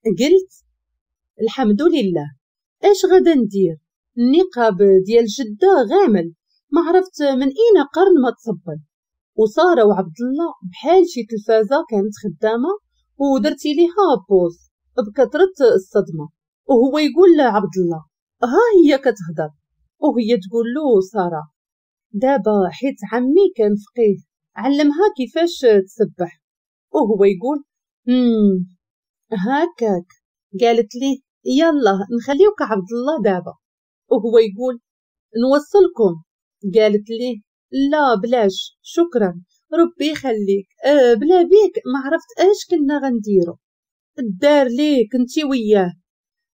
قلت الحمد لله، اش غادا ندير؟ النقاب ديال جدة غامل، ما عرفت من اين قرن ما تصبن. وسارة وعبد الله بحال شي تلفازة كانت خدامة ودرتي ليها pause بكثرة الصدمة. وهو يقول لعبد الله ها هي كتهضر، وهي تقول له سارة دابا حيت عمي كان فقيه علمها كيفاش تسبح. وهو يقول هكاك. قالت لي يلا نخليوك عبد الله دابا. وهو يقول نوصلكم. قالت لي لا بلاش شكرا ربي يخليك، بلا بيك ما عرفت اش كنا غنديرو، الدار ليك انتي وياه.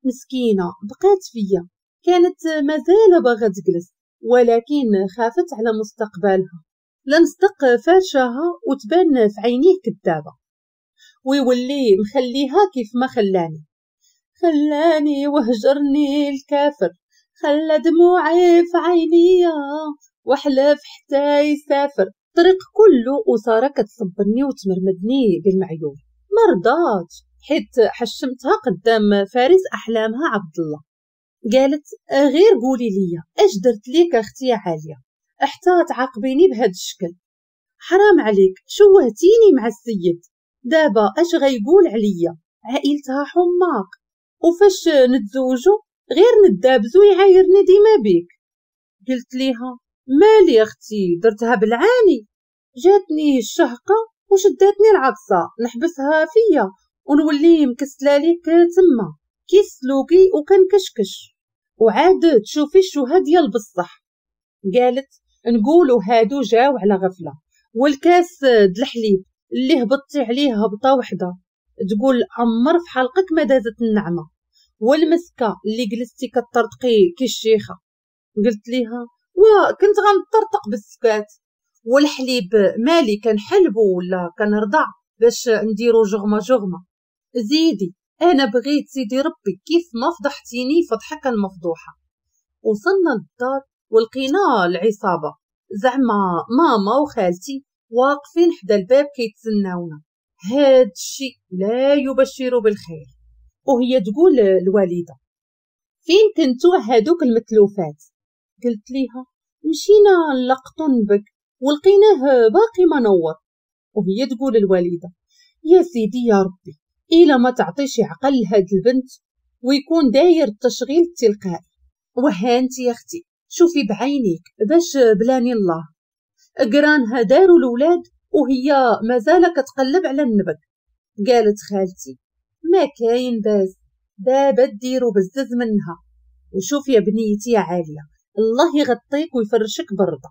مسكينه بقات فيا، كانت مازال باغا تجلس ولكن خافت على مستقبلها، لا نصدق فارشاها وتبان في عينيه كدابه ويولي مخليها كيف ما خلاني. خلاني وهجرني الكافر، خلى دموعي في عينيا وحلف حتى يسافر. الطريق كله وسارة كتصبرني وتمرمدني بالمعيور، ما رضاتش حيت حشمتها قدام فارس احلامها عبد الله. قالت غير قولي لي اش درت ليك اختي عالية حتى تعاقبيني بهذا الشكل، حرام عليك شوهتيني مع السيد، دابا اش غيقول عليا؟ عائلتها حماق، وفاش نتزوجو غير ندابزو يعايرني ديما بيك. قلت ليها مالي اختي درتها بالعاني، جاتني الشهقه وشداتني العطسه نحبسها فيا ونولي مكسله ليك تما كي سلوكي وكنكشكش، وعاد تشوفي الشوهه ديال بصح. قالت نقولوا هادو جاو على غفلة، والكاس د الحليب اللي هبطتي عليه هبطه وحده تقول عمر في حلقك ما دازت النعمة، والمسكه اللي جلستي كطرطقي كي الشيخه. قلت ليها وكنت غنطرطق بالسكات، والحليب مالي كنحلبو ولا كنرضع باش نديرو جغمه جغمه. زيدي انا بغيت سيدي ربي كيف ما فضحتيني فضحك المفضوحه. وصلنا للدار ولقينا العصابة، زعما ماما وخالتي واقفين حدا الباب كيتسناونا. هاد الشيء لا يبشر بالخير. وهي تقول الوالدة فين كنتو هادوك المتلوفات؟ قلت ليها مشينا نلقطو نبك ولقيناه باقي ما نور. وهي تقول الوالدة يا سيدي يا ربي إلا ما تعطيش عقل لهاد البنت ويكون داير التشغيل التلقائي. وهانتي يا اختي شوفي بعينيك باش بلاني الله، قرانها داروا الولاد وهي مازال كتقلب على النبك. قالت خالتي ما كاين باس دابا ديرو بزز منها. وشوف يا بنيتي يا عالية الله يغطيك ويفرشك بالرضا،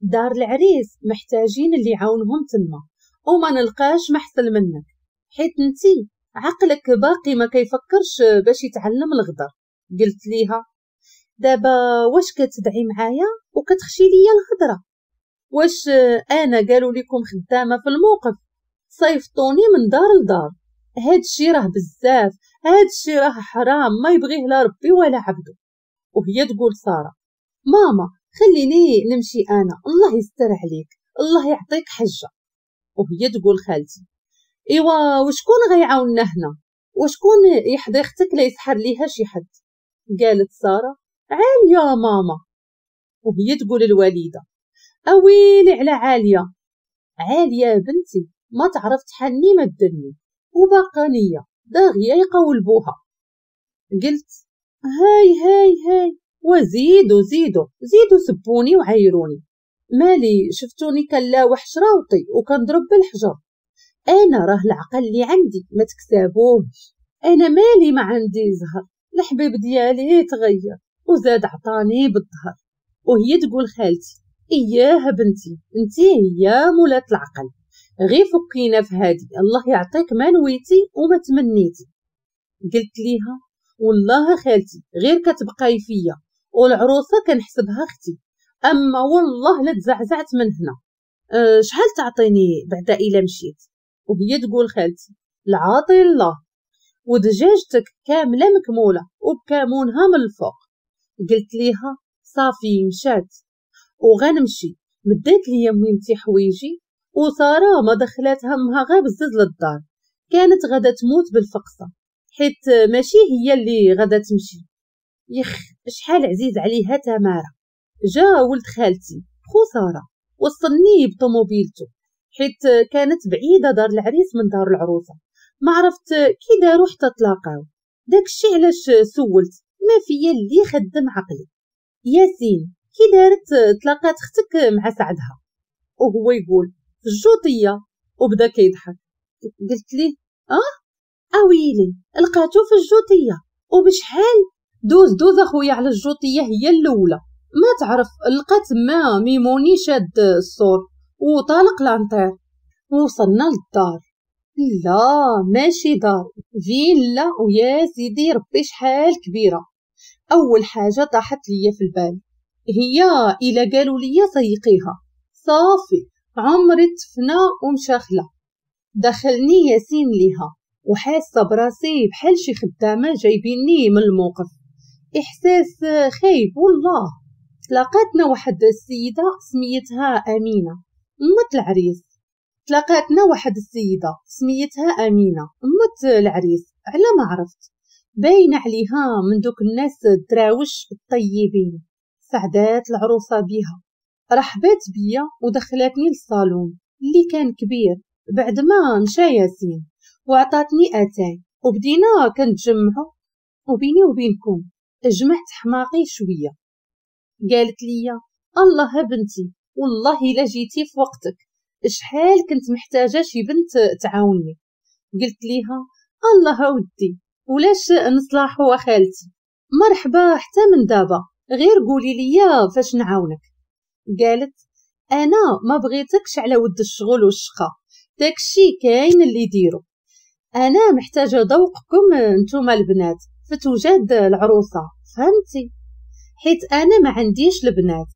دار العريس محتاجين اللي يعاونهم تما وما نلقاش محسن منك، حيت انتي عقلك باقي ما كيفكرش باش يتعلم الغدر. قلت ليها دابا واش كتدعي معايا وكتخشي ليا الهضرة؟ واش انا قالوا لكم خدامه في الموقف صيفطوني من دار لدار؟ هادشي راه بزاف، هادشي راه حرام ما يبغيه لا ربي ولا عبده. وهي تقول ساره ماما خليني نمشي انا، الله يستر عليك الله يعطيك حجه. وهي تقول خالتي ايوا وشكون غيعاوننا هنا؟ وشكون يحضي اختك لا يسحر ليها شي حد؟ قالت ساره عالية ماما. وهي تقول الوالدة اويلي على عالية، عالية بنتي ما تعرف تحني ما تدني وباقا نيه داغيه يقولبوها. قلت هاي هاي هاي وزيدوا زيدوا زيدوا سبوني وعايروني، مالي شفتوني كنلاوح شراوطي وكنضرب بالحجر؟ انا راه العقل اللي عندي ما تكسبوهش، انا مالي ما عندي زهر، الحبيب ديالي تغير وزاد عطاني بالظهر. وهي تقول خالتي اياها بنتي انتي هي مولات العقل، غير فكينا في هادي الله يعطيك ما نويتي وما تمنيتي. قلت ليها والله خالتي غير كتبقاي فيا والعروسه كنحسبها اختي، اما والله لا تزعزعت من هنا. شحال تعطيني بعدا الا مشيت؟ وهي تقول خالتي العاطي الله ودجاجتك كاملة مكموله وبكامونها من الفوق. قلت ليها صافي مشات وغنمشي. مدات لي مهمتي حوايجي وسارة ما دخلات همها غير بزز للدار، كانت غادا تموت بالفقصه. حيت ماشي هي اللي غادا تمشي. يخ شحال عزيز عليها تمارة. جا ولد خالتي خسارة وصلني بطوموبيلته، حيت كانت بعيدة دار العريس من دار العروسة. ما عرفت كي داروا حتى تلاقاو. داكشي علاش سولت، ما فيا اللي خدم عقلي. ياسين كي دارت تلاقات اختك مع سعدها؟ وهو يقول في الجوطيه، وبدا كيضحك. قلت ليه اويلي لقاتو في الجوطيه، وبشحال؟ دوز دوز اخويا على الجوطيه هي الاولى. ما تعرف لقات ما ميموني شاد الصور وطالق l'inter. وصلنا للدار. لا ماشي دار، فيلا، ويا سيدي ربي شحال كبيرة. اول حاجة طاحت ليا في البال هي الا قالوا لي سيقيها، صافي عمري تفنى ومشاخله. دخلني ياسين ليها وحاسه براسي بحال شي خدامه جايبيني من الموقف، احساس خايب والله. تلاقاتنا واحد السيدة سميتها امينه مت العريس. تلاقاتنا واحد السيدة سميتها امينه مت العريس، على ما عرفت باينة عليها من دوك الناس الدراوش الطيبين. سعدات العروسة بيها، رحبات بيا ودخلتني للصالون اللي كان كبير بعد ما مشى ياسين، وعطاتني اتاي وبدينا كنتجمعوا. وبيني وبينكم جمعت حماقي شوية. قالت لي الله بنتي والله الا جيتي في وقتك، شحال كنت محتاجه شي بنت تعاوني. قلت ليها الله ودي ولاش نصلحوا خالتي، مرحبا حتى من دابا، غير قولي لي فاش نعاونك. قالت انا ما بغيتكش على ود الشغل والشقه، داكشي كاين اللي يديرو، انا محتاجه ذوقكم نتوما البنات في توجد العروسة، فهمتي؟ حيت انا ما عنديش البنات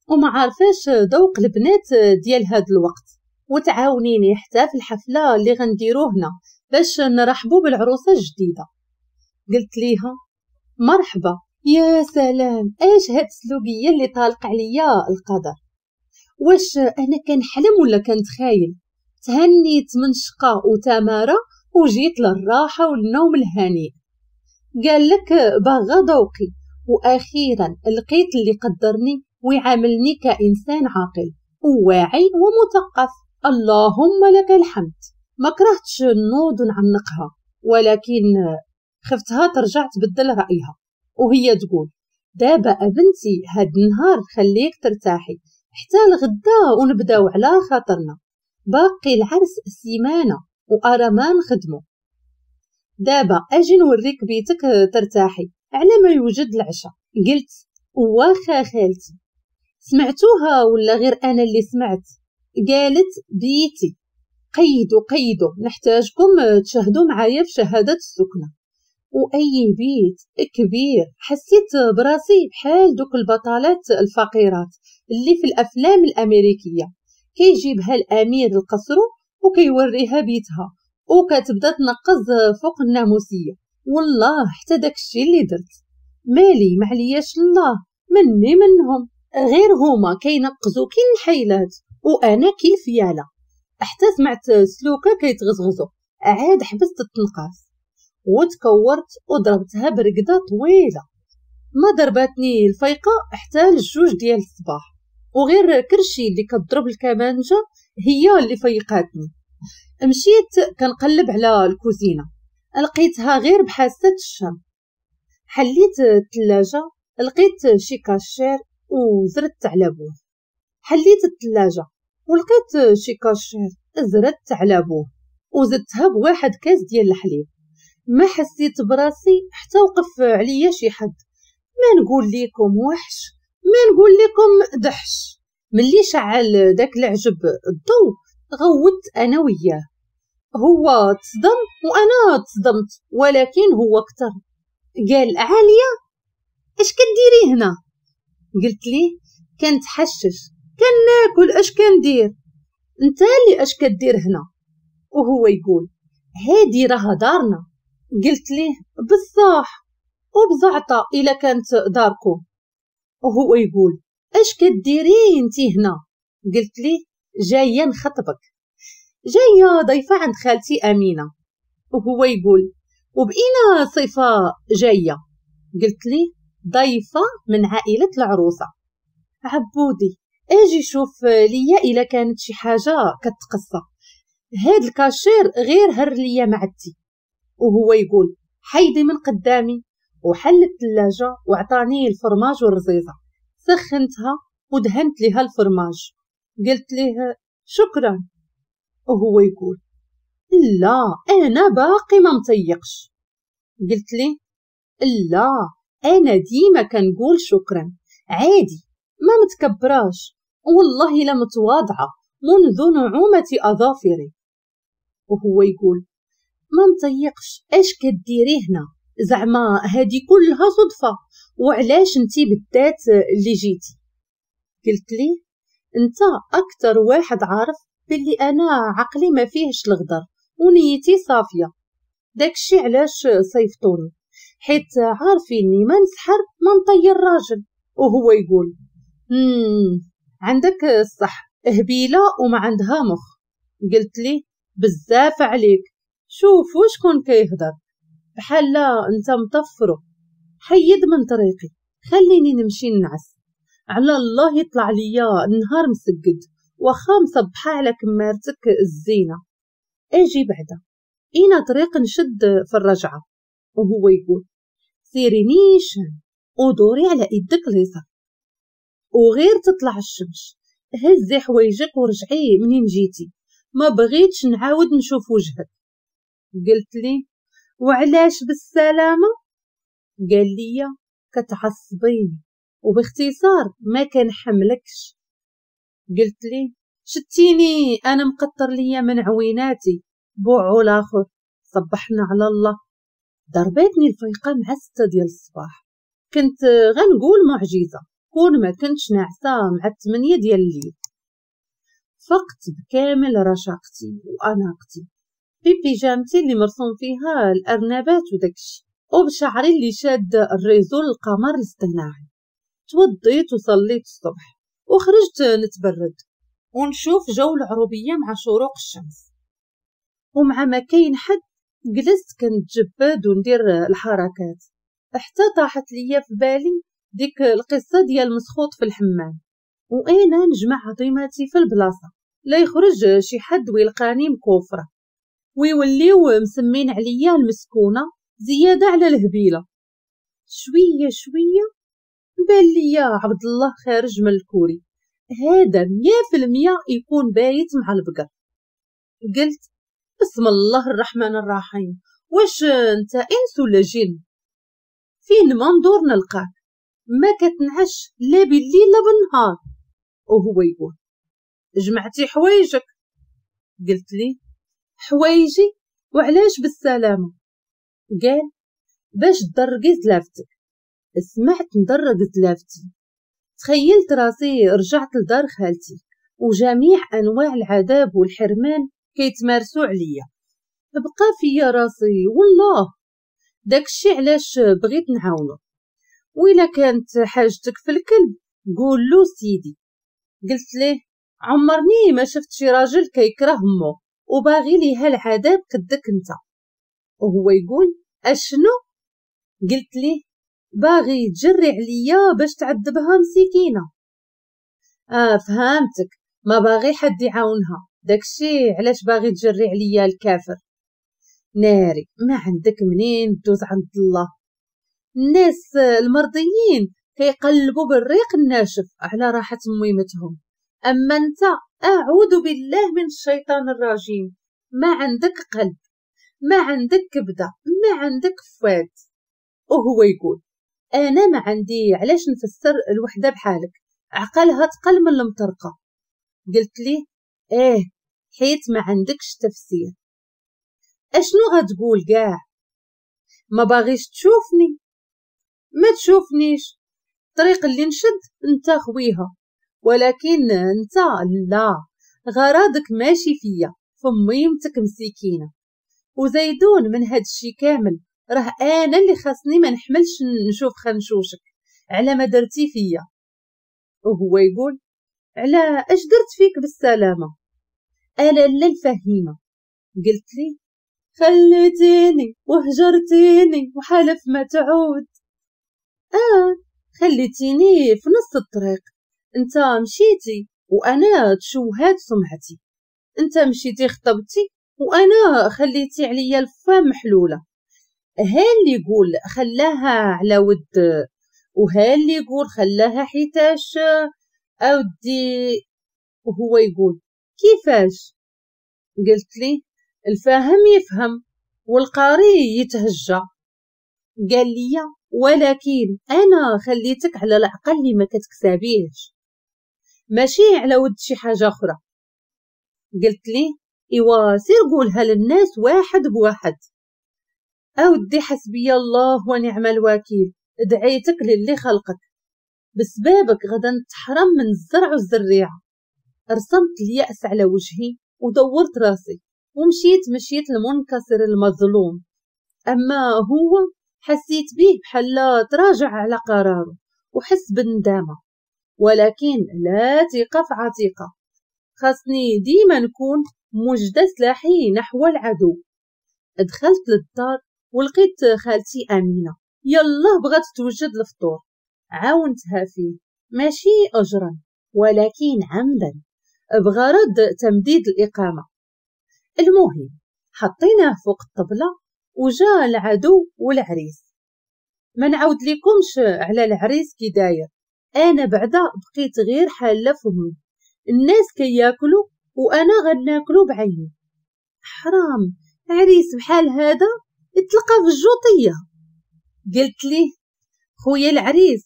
وما عارفاش ذوق البنات ديال هاد الوقت، وتعاونيني حتى في الحفلة اللي غنديرو هنا باش نرحبوا بالعروسه الجديدة. قلت ليها مرحبا. يا سلام، اش هاد السلوبيه اللي طالق عليا القدر؟ واش انا كنحلم ولا كنتخايل؟ تهنيت من شقه وتماره وجيت للراحة والنوم الهنيء. قال لك باغا ذوقي، واخيرا لقيت اللي قدرني ويعاملني كانسان عاقل وواعي ومثقف. اللهم لك الحمد. ما كرهتش نوض ونعنقها، ولكن خفتها ترجع تبدل رايها وهي تقول دابا ابنتي هاد النهار خليك ترتاحي حتى الغدا ونبداو على خاطرنا، باقي العرس سيمانه وارى ما نخدمو. دابا اجي نوريك بيتك ترتاحي على ما يوجد العشاء. قلت واخا خالتي. سمعتوها ولا غير انا اللي سمعت؟ قالت بيتي. قيدوا قيدوا، نحتاجكم تشاهدوا معايا في شهادة السكنة. واي بيت كبير، حسيت براسي بحال دوك البطلات الفقيرات اللي في الافلام الامريكية، كيجيبها الامير القصر وكيوريها بيتها وكتبدا تنقز فوق الناموسيه. والله حتى داكشي اللي درت، مالي ما علياش الله مني منهم، غير هما كينقزوا كي الحيلات وانا كي الفياله. حتى سمعت سلوكه كيتغزغزو، عاد حبست التنقاص وتكورت وضربتها برقده طويلة. ما ضربتني الفيقه حتى للجوج ديال الصباح، وغير كرشي اللي كتضرب الكمانجه هي اللي فيقاتني. مشيت كنقلب على الكوزينة، لقيتها غير بحاسه الشم. حليت الثلاجة لقيت شي كاشير وزرت على بوه. حليت الثلاجة ولقيت شي كاشير، زرت على بوه وزدتها بواحد كاس ديال الحليب. ما حسيت براسي حتى وقف عليا شي حد، ما نقول لكم وحش ما نقول لكم دحش. ملي شعل داك العجب الضو غوت انا وياه، هو تصدم وانا تصدمت، ولكن هو اكثر. قال عالية اش كديري هنا؟ قلت ليه كنتحشش كناكل، اش كندير؟ انت اللي اش كدير هنا؟ وهو يقول هادي راها دارنا. قلت ليه بصح وبزعطه الا كانت داركم. وهو يقول اش كديري انتي هنا؟ قلت ليه جاية نخطبك، جاية ضيفه عند خالتي امينه. وهو يقول وبإينا صفة جاية؟ قلت لي ضيفة من عائلة العروسة. عبودي اجي شوف ليا إلا كانت شي حاجة كتقصى، هاد الكاشير غير هر ليا معدتي. وهو يقول حيدي من قدامي، وحل الثلاجة وعطاني الفرماج والرزيزة، سخنتها ودهنت لها الفرماج. قلت ليه شكرا، وهو يقول لا انا باقي ما مطيقش. قلت ليه لا انا ديما كنقول شكرا عادي، ما متكبراش، والله لا متواضعة منذ نعومة اظافري. وهو يقول ما مطيقش، اش كديري هنا؟ زعما هادي كلها صدفة، وعلاش انتي بالذات اللي جيتي؟ قلت لي انت اكثر واحد عارف باللي انا عقلي ما فيهش الغدر ونيتي صافية، داكشي علاش صيفطوني، حيت عارفيني ما نسحر ما نطير راجل. وهو يقول عندك الصح، هبيله وما عندها مخ. قلت لي بزاف عليك، شوفوا شكون كيهضر، بحال لا انت مطفرو، حيد من طريقي خليني نمشي نعس، على الله يطلع ليا النهار مسقد واخا مصبحه على كمارتك الزينة. اجي بعدا اينا طريق نشد في الرجعة؟ وهو يقول سيري نيشان ودوري على ايدك اليسار، وغير تطلع الشمس هزي حوايجك ورجعي منين جيتي، ما بغيتش نعاود نشوف وجهك. قلت لي وعلاش بالسلامة؟ قال لي كتعصبيني وباختصار ما كنحملكش. قلت لي شتيني انا مقطر ليا من عويناتي بوعو الاخر، صبحنا على الله. ضربتني الفيقه مع 6 ديال الصباح، كنت غنقول معجزه كون ما كنتش ناعسه مع 8 ديال الليل. فقت بكامل رشاقتي واناقتي ببيجامتي اللي مرسوم فيها الارنبات وداكشي، وبشعري اللي شاد ال réseau القمر الاصطناعي. توضيت وصليت الصبح وخرجت نتبرد ونشوف جو العروبية مع شروق الشمس، ومع ما كاين حد جلست كنتجبد وندير الحركات، حتى طاحت ليا في بالي ديك القصة ديال مسخوط في الحمام، وانا نجمع عظيماتي في البلاصة لا يخرج شي حد ويلقاني مكوفره ويوليو مسمين عليا المسكونه زيادة على الهبيله. شوية شوية بان ليا عبد الله خارج من الكوري، هذا 100% يكون بايت مع البقر. قلت بسم الله الرحمن الرحيم، واش انت انس ولا جن؟ فين ما ندور نلقاك، ما كتنعش لا بالليل لا بالنهار. وهو يقول جمعتي حوايجك؟ قلت لي حوايجي وعلاش بالسلامة؟ قال باش تدرقي زلافتك. سمعت ندرق زلافتي، تخيلت راسي رجعت لدار خالتي وجميع انواع العذاب والحرمان كيتمارسوا عليا. بقى فيا راسي والله، داكشي علاش بغيت نعاونو. وإلا كانت حاجتك في الكلب قول له سيدي. قلت ليه عمرني ما شفت شي راجل كيكره امه وباغي ليها العذاب قدك انت. وهو يقول اشنو؟ قلت ليه باغي تجري عليا باش تعذبها مسكينه. فهمتك، ما باغي حد يعاونها، داكشي علاش باغي تجري عليا الكافر. ناري ما عندك منين دوز عند الله. الناس المرضيين كيقلبوا بالريق الناشف على راحة ميمتهم، اما انت اعوذ بالله من الشيطان الرجيم، ما عندك قلب، ما عندك كبده، ما عندك فؤاد. وهو يقول انا ما عندي علاش نفسر الوحدة بحالك، عقلها تقل من المطرقة. قلت ليه ايه حيت ما عندكش تفسير. اشنو غتقول كاع؟ ما باغيش تشوفني؟ ما تشوفنيش، الطريق اللي نشد انت خويها، ولكن انت لا، غراضك ماشي فيا، فميمتك مسكينه. وزيدون من هاد الشي كامل راه انا اللي خاصني ما نحملش نشوف خنشوشك على ما درتي فيا. وهو يقول على اش درت فيك بالسلامة؟ انا لا الفهيمه. قلت لي خليتيني وهجرتيني وحلف ما تعود. خليتيني في نص الطريق، انت مشيتي وانا تشوهات سمعتي، انت مشيتي خطبتي وانا خليتي عليا الفم محلولة. ها اللي يقول خلاها على ود، وها اللي يقول خلاها حيتاش اودي. وهو يقول كيفاش؟ قلت لي الفاهم يفهم والقاري يتهجى. قال لي ولكن انا خليتك على العقل اللي ما كتكسابيهش، ماشي على ود شي حاجة اخرى. قلت لي ايوا سير قولها للناس واحد بواحد. اودي حسبي الله ونعم الوكيل، دعيتك للي خلقك، بسبابك غدا نتحرم من الزرع والزريعه. رسمت اليأس على وجهي ودورت راسي ومشيت مشيت المنكسر المظلوم. اما هو حسيت به بحال تراجع على قراره وحس بالندامه، ولكن لا ثقة في عتيقه. خاصني ديما نكون موجده سلاحي نحو العدو. دخلت للدار ولقيت خالتي امينه يلا بغات توجد الفطور، عاونتها فيه ماشي اجرا ولكن عمدا بغرض تمديد الاقامة. المهم حطيناه فوق الطبلة وجا العدو والعريس. ما نعاود لكمش على العريس كي داير، انا بعدا بقيت غير حاله فمي، الناس كياكلوا وانا غناكلو بعيني. حرام عريس بحال هذا يتلقى في الجوطيه. قلت ليه خويا العريس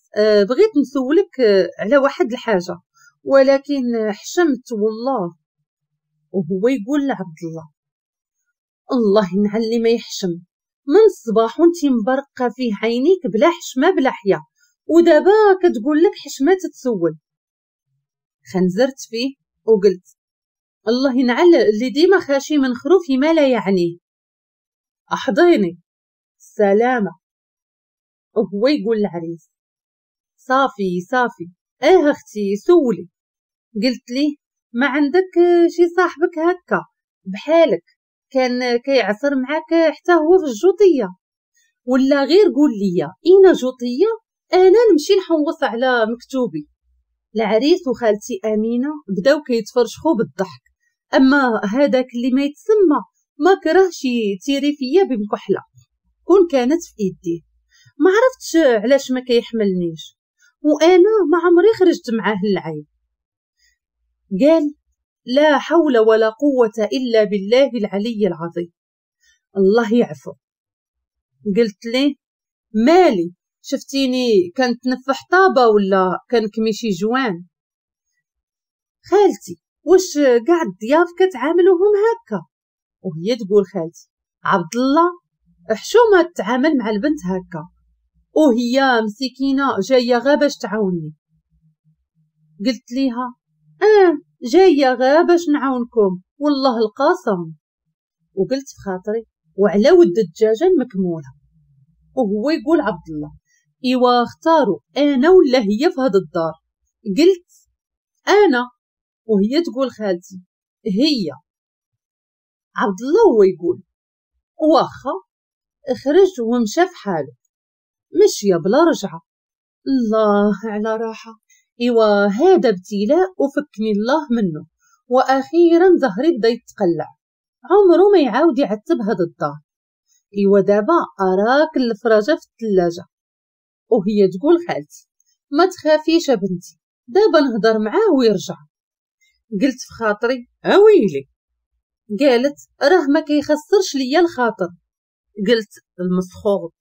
بغيت نسولك على واحد الحاجة ولكن حشمت والله. وهو يقول لعبد الله الله ينعلي ما يحشم، من الصباح وانتي مبرقه فيه عينيك بلا حشمه بلا حيا، ودابا كتقول لك حشمه تتسول. خنزرت فيه وقلت الله ينعل اللي ديما خاشي من خروفي ما لا يعنيه، احضيني سلامه. وهو يقول العريس صافي صافي اختي سولي. قلت ليه ما عندك شي صاحبك هكا بحالك كان كيعصر معاك حتى هو في الجوطيه، ولا غير قول لي اين جوطيه انا نمشي نحوص على مكتوبي. العريس وخالتي امينه بداو كيتفرشخوا بالضحك، اما هذاك اللي ما يتسمى ما كرهش تيري فيا بمكحله كون كانت في ايديه. ما عرفتش علاش ما كيحملنيش وانا ما عمري خرجت معاه العيب. قال لا حول ولا قوة إلا بالله العلي العظيم، الله يعفو. قلت ليه مالي شفتيني كنتنفح طابة ولا كنكمي شي جوان؟ خالتي واش كاع الضياف كتعاملوهم هكا؟ وهي تقول خالتي عبد الله حشومه تعامل مع البنت هكا، وهي مسكينه جاية غا باش تعاوني. قلت ليها جاية غا باش نعاونكم والله القاسم. وقلت في خاطري وعلى ود الدجاجة المكموله. وهو يقول عبد الله ايوا اختاروا انا ولا هي في هذا الدار. قلت انا، وهي تقول خالتي هي. عبد الله هو يقول واخا، خرج ومشى في حاله مشيه بلا رجعه. الله على راحة. ايوا هذا ابتلاء وفكني الله منه، واخيرا ظهري بدا يتقلع، عمره ما يعاود يعتب هذا الدار. ايوا دابا اراك الفراجه في الثلاجة. وهي تقول خالتي ما تخافيش بنتي دابا نهضر معاه ويرجع. قلت في خاطري اويلي. قالت راه ما كيخسرش ليا الخاطر. قلت المسخوط.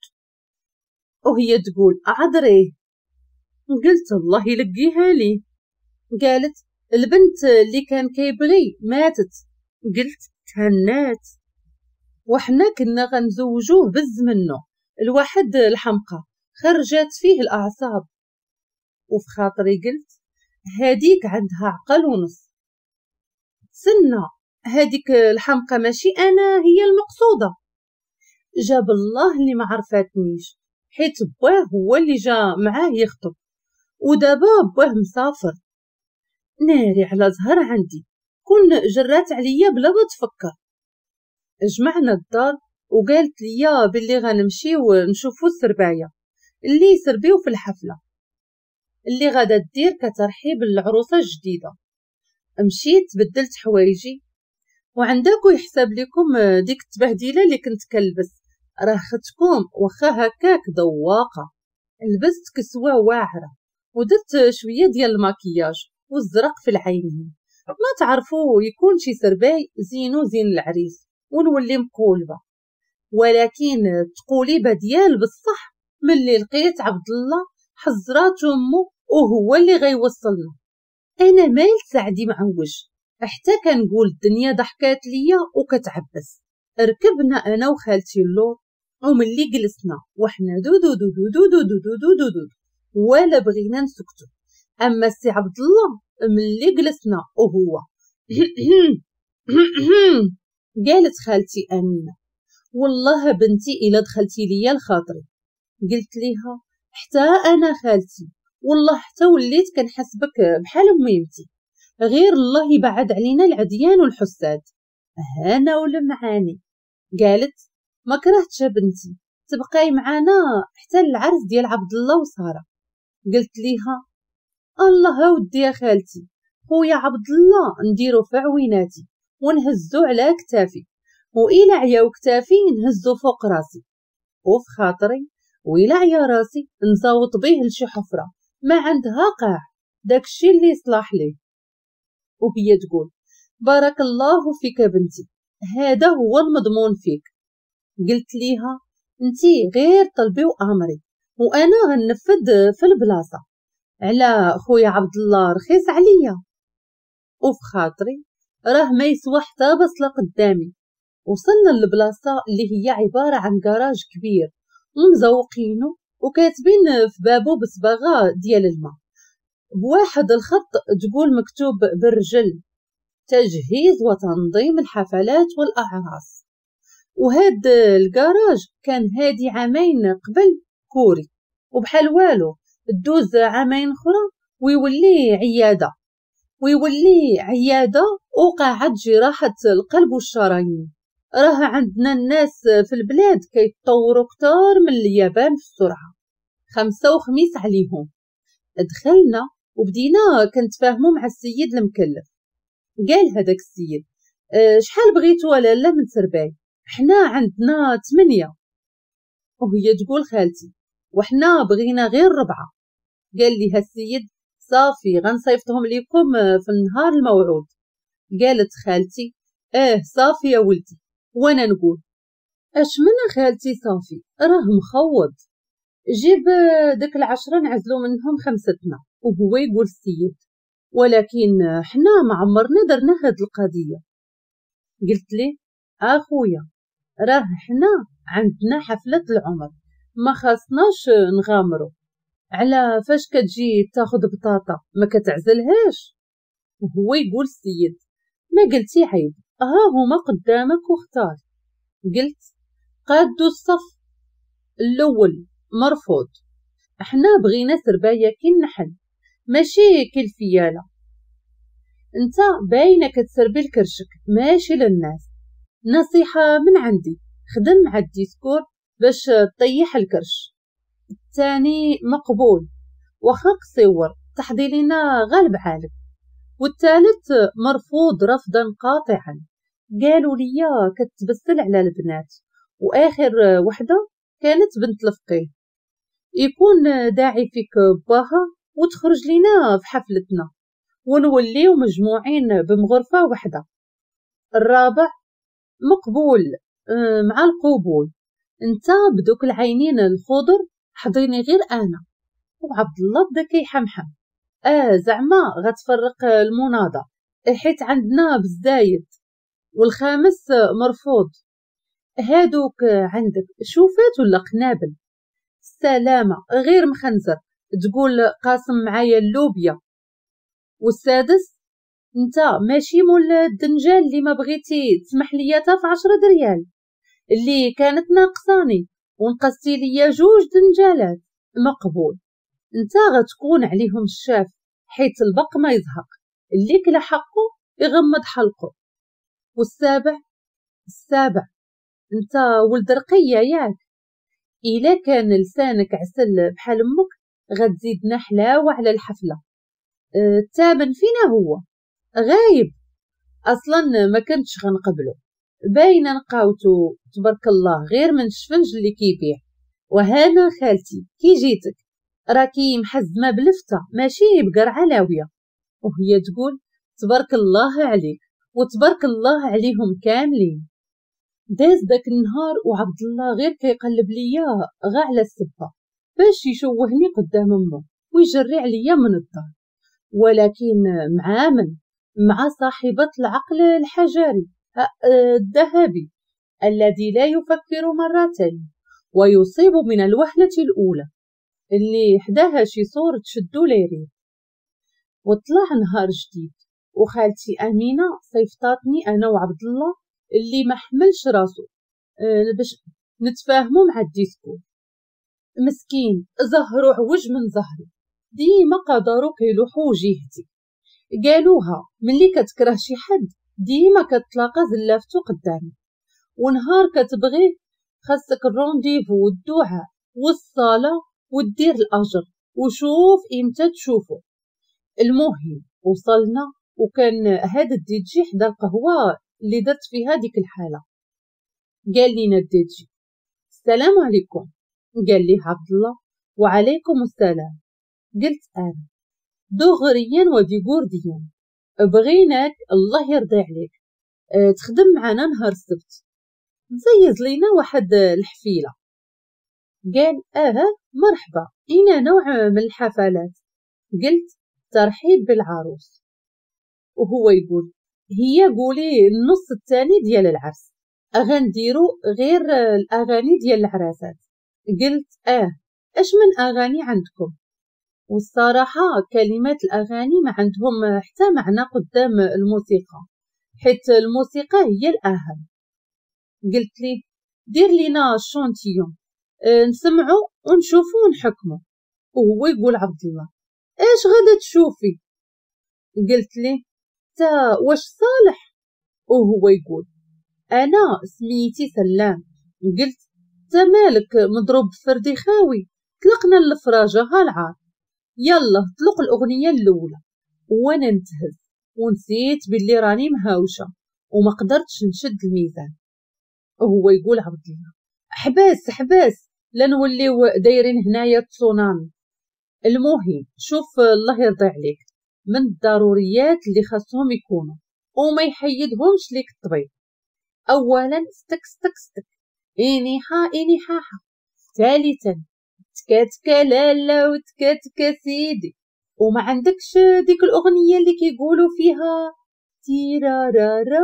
وهي تقول عذريه. قلت الله يلقيها لي. قالت البنت اللي كان كيبغي ماتت. قلت تهنات، وحنا كنا غنزوجوه بز منه الواحد الحمقى خرجت فيه الاعصاب. وفي خاطري قلت هاديك عندها عقل ونص، تسنى هاديك الحمقى ماشي انا هي المقصودة. جاب الله اللي ما عرفاتنيش، حيت بواه هو اللي جا معاه يخطب، ودابا بواه مسافر. ناري على زهر عندي، كون جرات عليا بلا ما تفكر. جمعنا الدار وقالت لي باللي غنمشيو نشوفو السربايه اللي يسربيو في الحفلة اللي غادا دير كترحيب للعروسه الجديدة. مشيت بدلت حوايجي، وعندكو يحسب لكم ديك التبهديله اللي كنت كنلبس، راه ختكم واخا هكاك ذواقه. لبست كسوه واعرة ودرت شوية ديال الماكياج والزرق في العينين، ما تعرفوا يكون شي سرباي زينو زين العريس ونولي مقولبه. ولكن التقوليبه ديال بصح ملي لقيت عبد الله حزرات امه وهو اللي غيوصلنا. انا مال سعدي معوج حتى كنقول الدنيا ضحكات ليا وكتعبس. ركبنا انا وخالتي اللور، وملي جلسنا وحنا دو دو دو دو دو دو دو دو دو دو ولا بغينا نسكتو. اما السي عبد الله ملي جلسنا وهو قالت خالتي امينه والله بنتي الا دخلتي ليا لخاطري. قلت ليها حتى انا خالتي والله حتى وليت كنحسبك بحال ميمتي، غير الله يبعد علينا العديان والحساد. هانا ولا معاني. قالت ما كرهتش بنتي تبقاي معانا حتى العرس ديال عبد الله وسارة. قلت ليها الله ودي يا خالتي، خويا عبد الله نديرو في عويناتي ونهزو على كتافي، وإلا عياو كتافي نهزو فوق راسي، وفي خاطري وإلا عيا راسي نزاوط بيه لشي حفره ما عندها قاع، داكشي اللي يصلح ليه. وهي تقول بارك الله فيك بنتي، هذا هو المضمون فيك. قلت ليها انتي غير طلبي وامري وانا غنفذ في البلاصة، على خويا عبد الله رخيص عليا. وفي خاطري راه ما يسوى حتى بصله قدامي. وصلنا للبلاصه اللي هي عبارة عن كراج كبير ومزوقينه وكاتبين في بابو بصباغه ديال الماء بواحد الخط تقول مكتوب بالرجل تجهيز وتنظيم الحفلات والاعراس. وهاد الكراج كان هادي عامين قبل كوري، وبحال والو دوز عامين اخرى ويولي عيادة، ويولي عيادة وقاعه جراحه القلب والشرايين. راه عندنا الناس في البلاد كيتطوروا كتار من اليابان في السرعة، 5 وخميس عليهم. دخلنا وبدينا كنتفاهموا مع السيد المكلف. قال هذاك السيد شحال بغيتو لاله من سرباي؟ حنا عندنا 8. وهي تقول خالتي وحنا بغينا غير 4. قال ليها السيد صافي غنصيفطهم ليكم في النهار الموعود. قالت خالتي اه صافي يا ولدي. وانا نقول اش من خالتي صافي راه مخوض، جيب داك 10 نعزلو منهم 5. وهو يقول السيد ولكن حنا ما عمرنا درنا هاد القضية. قلت ليه اخويا راه حنا عندنا حفلة العمر ما خاصناش نغامرو، على فاش كتجي تاخد بطاطا ما كتعزلهاش. وهو يقول السيد ما قلتي عيب، ها هما قدامك واختار. قلت قادو الصف الاول مرفوض، احنا بغينا سربايه كي النحل ماشي كي الفياله، انت باينة كتسربي لكرشك ماشي للناس. نصيحة من عندي خدم مع ال discours باش تطيح الكرش. الثاني مقبول واخا قصيور تحضي لينا غالب عالك. والثالث مرفوض رفضا قاطعا، قالوا لي كتبسل على البنات. واخر وحده كانت بنت الفقيه، يكون داعي فيك باها وتخرج لينا في حفلتنا ونوليو مجموعين بمغرفه وحده. الرابع مقبول مع القبول، انت بدوك العينين الخضر حضيني غير انا. وعبد الله بدا كيحمحم زعما غتفرق المناضه حيت عندنا بالزايد. والخامس مرفوض، هادوك عندك شوفات ولا قنابل؟ السلامة غير مخنزر تقول قاسم معايا اللوبيا. والسادس انت ماشي مول الدنجال اللي ما بغيتي تسمح ليا تا في 10 دريال اللي كانت ناقصاني ونقصتي ليا 2 دنجالات. مقبول، انت غتكون عليهم الشاف حيت البق ما يزهق، اللي كلا حقه يغمض حلقة. والسابع السابع انت ولد رقيه ياك، الا كان لسانك عسل بحال امك غتزيدنا حلاوة على الحفلة. الثامن فينا هو غايب اصلا، ما كنتش غنقبلو، باينة نقاوتو تبارك الله غير من الشفنج اللي كيبيع. وهانا خالتي كي جيتك راكي محزمه بلفته ماشي بقرعه لاويه. وهي تقول تبارك الله عليك وتبارك الله عليهم كاملين. داز داك النهار وعبد الله غير كيقلب ليا غا على السبه باش يشوهني قدام امه ويجري عليا من الدار، ولكن مع من؟ مع صاحبة العقل الحجري الذهبي الذي لا يفكر مرتين ويصيب من الوهلة الأولى، اللي حداها شي صورة تشدو ليري. وطلع نهار جديد وخالتي أمينة صيفطاتني أنا وعبد الله اللي ما حملش راسو باش نتفاهمو مع ال discours. مسكين زهرو عوج من زهري، ديما قدرو كيلوحو جهتي. قالوها ملي كتكره شي حد ديما كتلاقى زلافتو قدامك، ونهار كتبغيه خاصك ال rendez-vous والدعاء والصلاة ودير الأجر وشوف امتى تشوفو. المهم وصلنا وكان هذا الدي جي حدا القهوة اللي درت فيها ديك الحالة. قال لنا الدي جي السلام عليكم. قال لي عبد الله وعليكم السلام. قلت انا دغريا وديغورديا بغيناك الله يرضي عليك تخدم معنا نهار السبت، تزيز لينا واحد الحفيله. قال مرحبا، اين نوع من الحفلات؟ قلت ترحيب بالعروس. وهو يقول هي قولي النص الثاني ديال العرس غنديرو غير الاغاني ديال العراسات. قلت اش من اغاني عندكم؟ والصراحة كلمات الاغاني ما عندهم حتى معنى قدام الموسيقى، حيت الموسيقى هي الاهم. قلت لي دير لينا échantillon نسمعو ونشوفو ونحكمو. وهو يقول عبد الله اش غادا تشوفي؟ قلت لي تا واش صالح؟ وهو يقول انا سميتي سلام. قلت تا مالك مضروب بفردي خاوي، طلقنا الفراجه ها العار، يلا طلق الاغنية الاولى. وانا نتهز ونسيت باللي راني مهاوشه وما قدرتش نشد الميزان. وهو يقول عبد الله حباس حباس لا نوليو دايرين هنايا تسونامي. المهم شوف الله يرضي عليك من الضروريات اللي خاصهم يكونوا وما يحيدهمش ليك الطبيب. اولا ستك ستك ستك اني حا اني حاحا. ثالثا تكاتكا لالا وتكاتكا سيدي. وما عندكش ديك الاغنية اللي كيقولوا فيها تيرارارا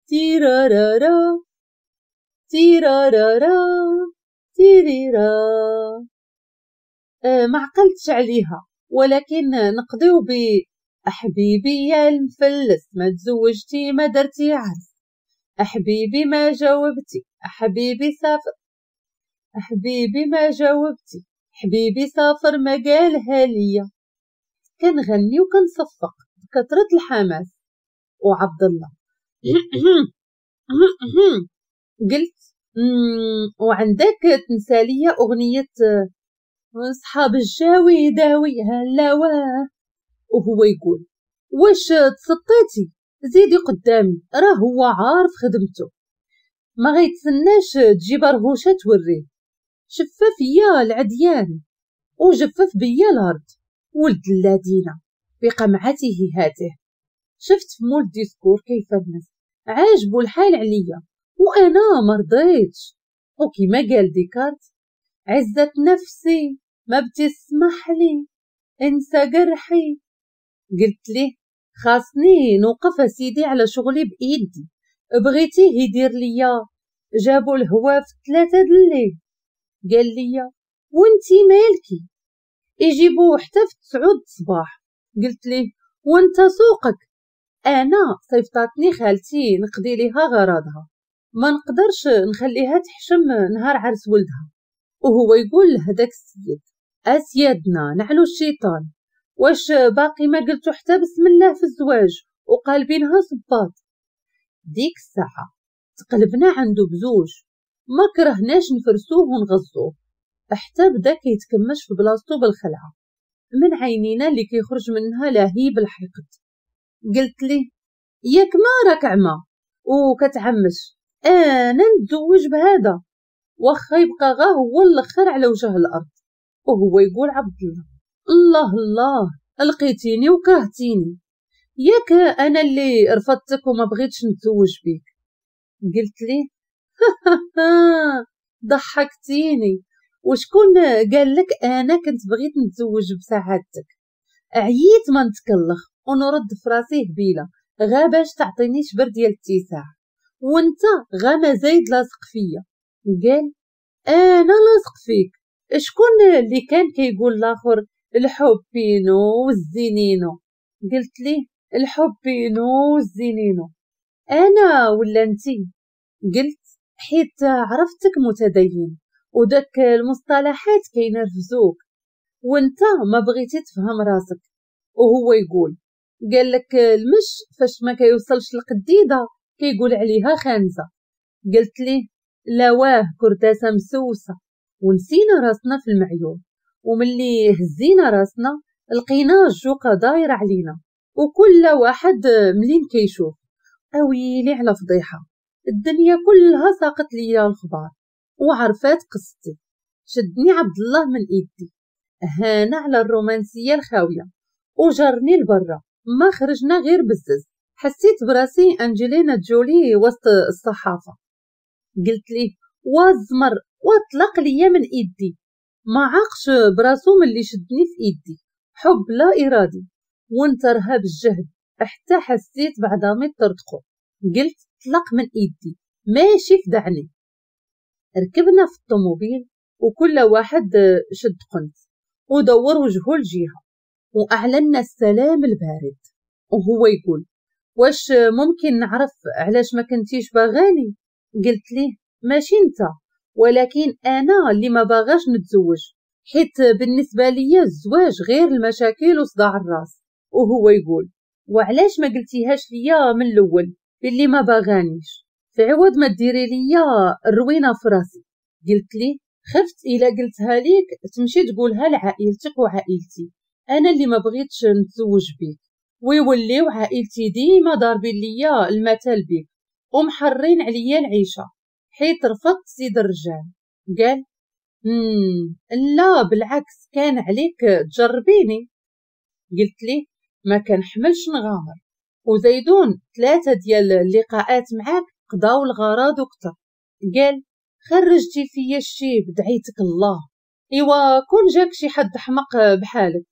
تيرارارا تيرارارا تيريرا؟ ما عقلتش عليها، ولكن نقضيو ب احبيبي يا المفلس ما تزوجتي ما درتي عرس، احبيبي ما جاوبتي، احبيبي سافر، احبيبي ما جاوبتي، حبيبي سافر ما قالها ليا. كنغني وكنصفق بكثرة الحماس. وعبد الله قلت وعندك تنسى ليا اغنية صحاب الجاوي داوي هلاواه. وهو يقول واش تسطيتي؟ زيدي قدامي راه هو عارف خدمته، ما غيتسناش تجي برهوشه توريه. شفف يا العديان وجفف بيا الارض ولد الذين بقمعته هاته. شفت في مول discours كيف الناس عاجبو الحال عليا وانا مرضيتش. وكما قال ديكارت عزة نفسي ما بتسمح لي انسى جرحي. قلت ليه خاصني نوقف سيدي على شغلي بايدي، بغيتيه يدير ليا جابوا الهوا في 3 الليل. قال لي وانتي مالكي؟ يجيبوه حتى في 9 الصباح. قلت ليه وانت سوقك؟ انا صيفطاتني خالتي نقضي ليها غراضها، ما نقدرش نخليها تحشم نهار عرس ولدها. وهو يقول لهداك السيد اسيادنا نعلو الشيطان، واش باقي ما قلتو حتى بسم الله في الزواج وقالبينها صباط. ديك الساعة تقلبنا عنده بزوج، ما كرهناش نفرسوه ونغزوه، حتى بدا كيتكمش في بلاصتو بالخلعه من عينينا اللي كيخرج منها لهيب الحقد. قلت ليه ياك ما راك عمى وكتعمش، انا نتزوج بهذا واخا يبقى غا هو الاخر على وجه الارض. وهو يقول عبد الله الله الله لقيتيني وكرهتيني، ياك انا اللي رفضتك وما بغيتش نتزوج بيك. قلت ليه ضحكتيني، وشكون قال لك انا كنت بغيت نتزوج بسعادتك؟ عييت ما نتكلخ ونرد في راسي هبيله غا باش تعطيني شبر ديال التساع، وانت غا ما زايد لاصق فيا. قال انا لاصق فيك؟ شكون اللي كان كيقول الاخر الحبينو والزينينو؟ قلت ليه الحبينو والزينينو انا ولا انتي؟ قلت حيت عرفتك متدين وداك المصطلحات كينرفزوك وانت ما بغيتي تفهم راسك. وهو يقول قال لك المش فاش ما كيوصلش القديده كيقول عليها خانزه. قلت ليه لا واه كرداسه مسوسه. ونسينا راسنا في المعيون، وملي هزينا راسنا لقينا الجوقه دايرة علينا وكل واحد ملين كيشوف. اويلي على فضيحة، الدنيا كلها ساقت ليا الخبار وعرفات قصتي. شدني عبد الله من ايدي هانا على الرومانسية الخاويه وجرني لبرا، ما خرجنا غير بزز. حسيت براسي انجلينا جولي وسط الصحافة. قلت ليه وازمر واطلق ليا من ايدي. ما عاقش براسو من اللي شدني في ايدي، حب لا ارادي وانترها بالجهد حتى حسيت بعظامي طرطقو. قلت طلق من ايدي ماشي فدعني. ركبنا في الطوموبيل وكل واحد شد قنت ودور وجهه لجهة واعلنا السلام البارد. وهو يقول واش ممكن نعرف علاش ما كنتيش باغاني؟ قلت ليه ماشي انت، ولكن انا اللي ما باغاش نتزوج، حيت بالنسبة ليا الزواج غير المشاكل وصداع الراس. وهو يقول وعلاش ما قلتيهاش ليا من الاول باللي ما باغانيش، في عوض ما ديري ليا الروينه في راسي. قلت ليه خفت الا قلتها ليك تمشي تقولها لعائلتك وعائلتي، انا اللي ما بغيتش نتزوج بيك ويوليو عائلتي ديما ضاربين ليا المثل بيك ومحرين عليا العيشة حيت رفضت سيد الرجال. قال لا بالعكس كان عليك تجربيني. قلت ليه ما كنحملش نغامر، وزيدون 3 ديال اللقاءات معاك قضاو الغرض وكتر. قال خرجتي فيا الشيب دعيتك الله، ايوا كون جاك شي حد حمق بحالك.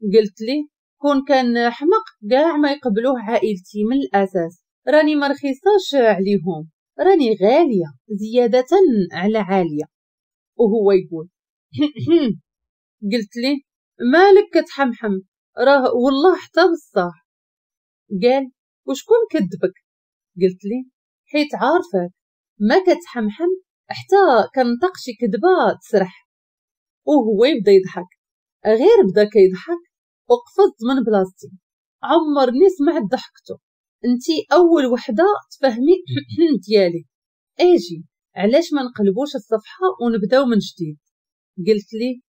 قلت ليه كون كان حمق كاع ما يقبلوه عائلتي من الاساس، راني ما رخيصاش عليهم، راني غالية زيادة على عالية. وهو يقول قلت ليه مالك كتحمحم، راه والله حتى بصح. قال وشكون كذبك؟ قلت ليه حيت عارفك ما كتحمحم حتى كنطق شي كذبه تسرح. وهو يبدا يضحك، غير بدا كيضحك وقفزت من بلاصتي، عمرني سمعت ضحكته. انتي اول وحده تفهمي ديالي، اجي علاش ما نقلبوش الصفحة ونبداو من جديد؟ قلت لي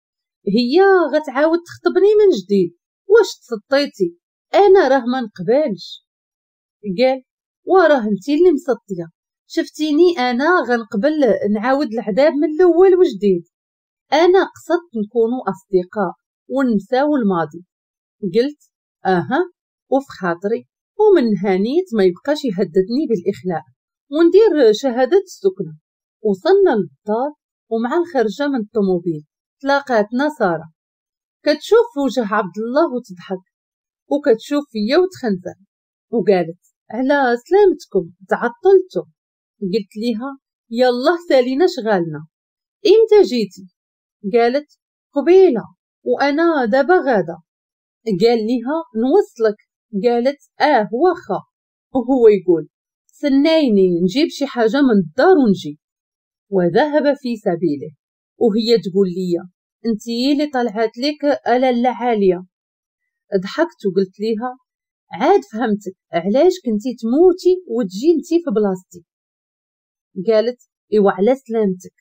هي غتعاود تخطبني من جديد، واش تسطيتي؟ انا راه ما نقبلش. قال وراه انتي اللي مسطيه، شفتيني انا غنقبل نعاود العذاب من الاول وجديد، انا قصدت نكونوا اصدقاء ونساو الماضي. قلت اها وفي خاطري، ومن هانيت ما يبقاش يهددني بالاخلاء وندير شهادة السكنة. وصلنا للدار ومع الخرجه من الطوموبيل تلاقاتنا ساره، كتشوف في وجه عبد الله وتضحك وكتشوف فيا وتخنزر، وقالت على سلامتكم تعطلتوا. قلت ليها يلا سالينا شغالنا، امتى جيتي؟ قالت قبيلة وانا دابا غاده. قال ليها نوصلك؟ قالت واخا. وهو يقول سنايني نجيب شي حاجة من الدار ونجي، وذهب في سبيله. وهي تقول لي انتي اللي طلعت لك لاله عالية. ضحكت وقلت ليها عاد فهمتك علاش كنتي تموتي وتجي انتي في بلاصتي. قالت ايوا على سلامتك،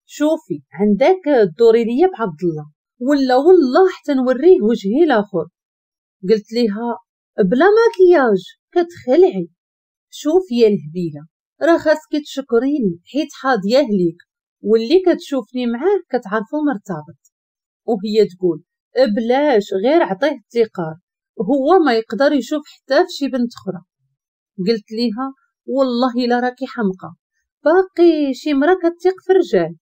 شوفي عندك دوري ليا بعبد الله ولا والله حتى نوريه وجهي الاخر. قلت ليها بلا ماكياج كتخلعي، شوفي يا الهبيله راه خاصك تشكريني حيت حاضياه ليك واللي كتشوفني معاه كتعرفو مرتبط. وهي تقول بلاش غير عطية الثقار، هو ما يقدر يشوف حتى في شي بنت اخرى. قلت ليها والله الا راكي حمقى، باقي شي مرا كتثق في الرجال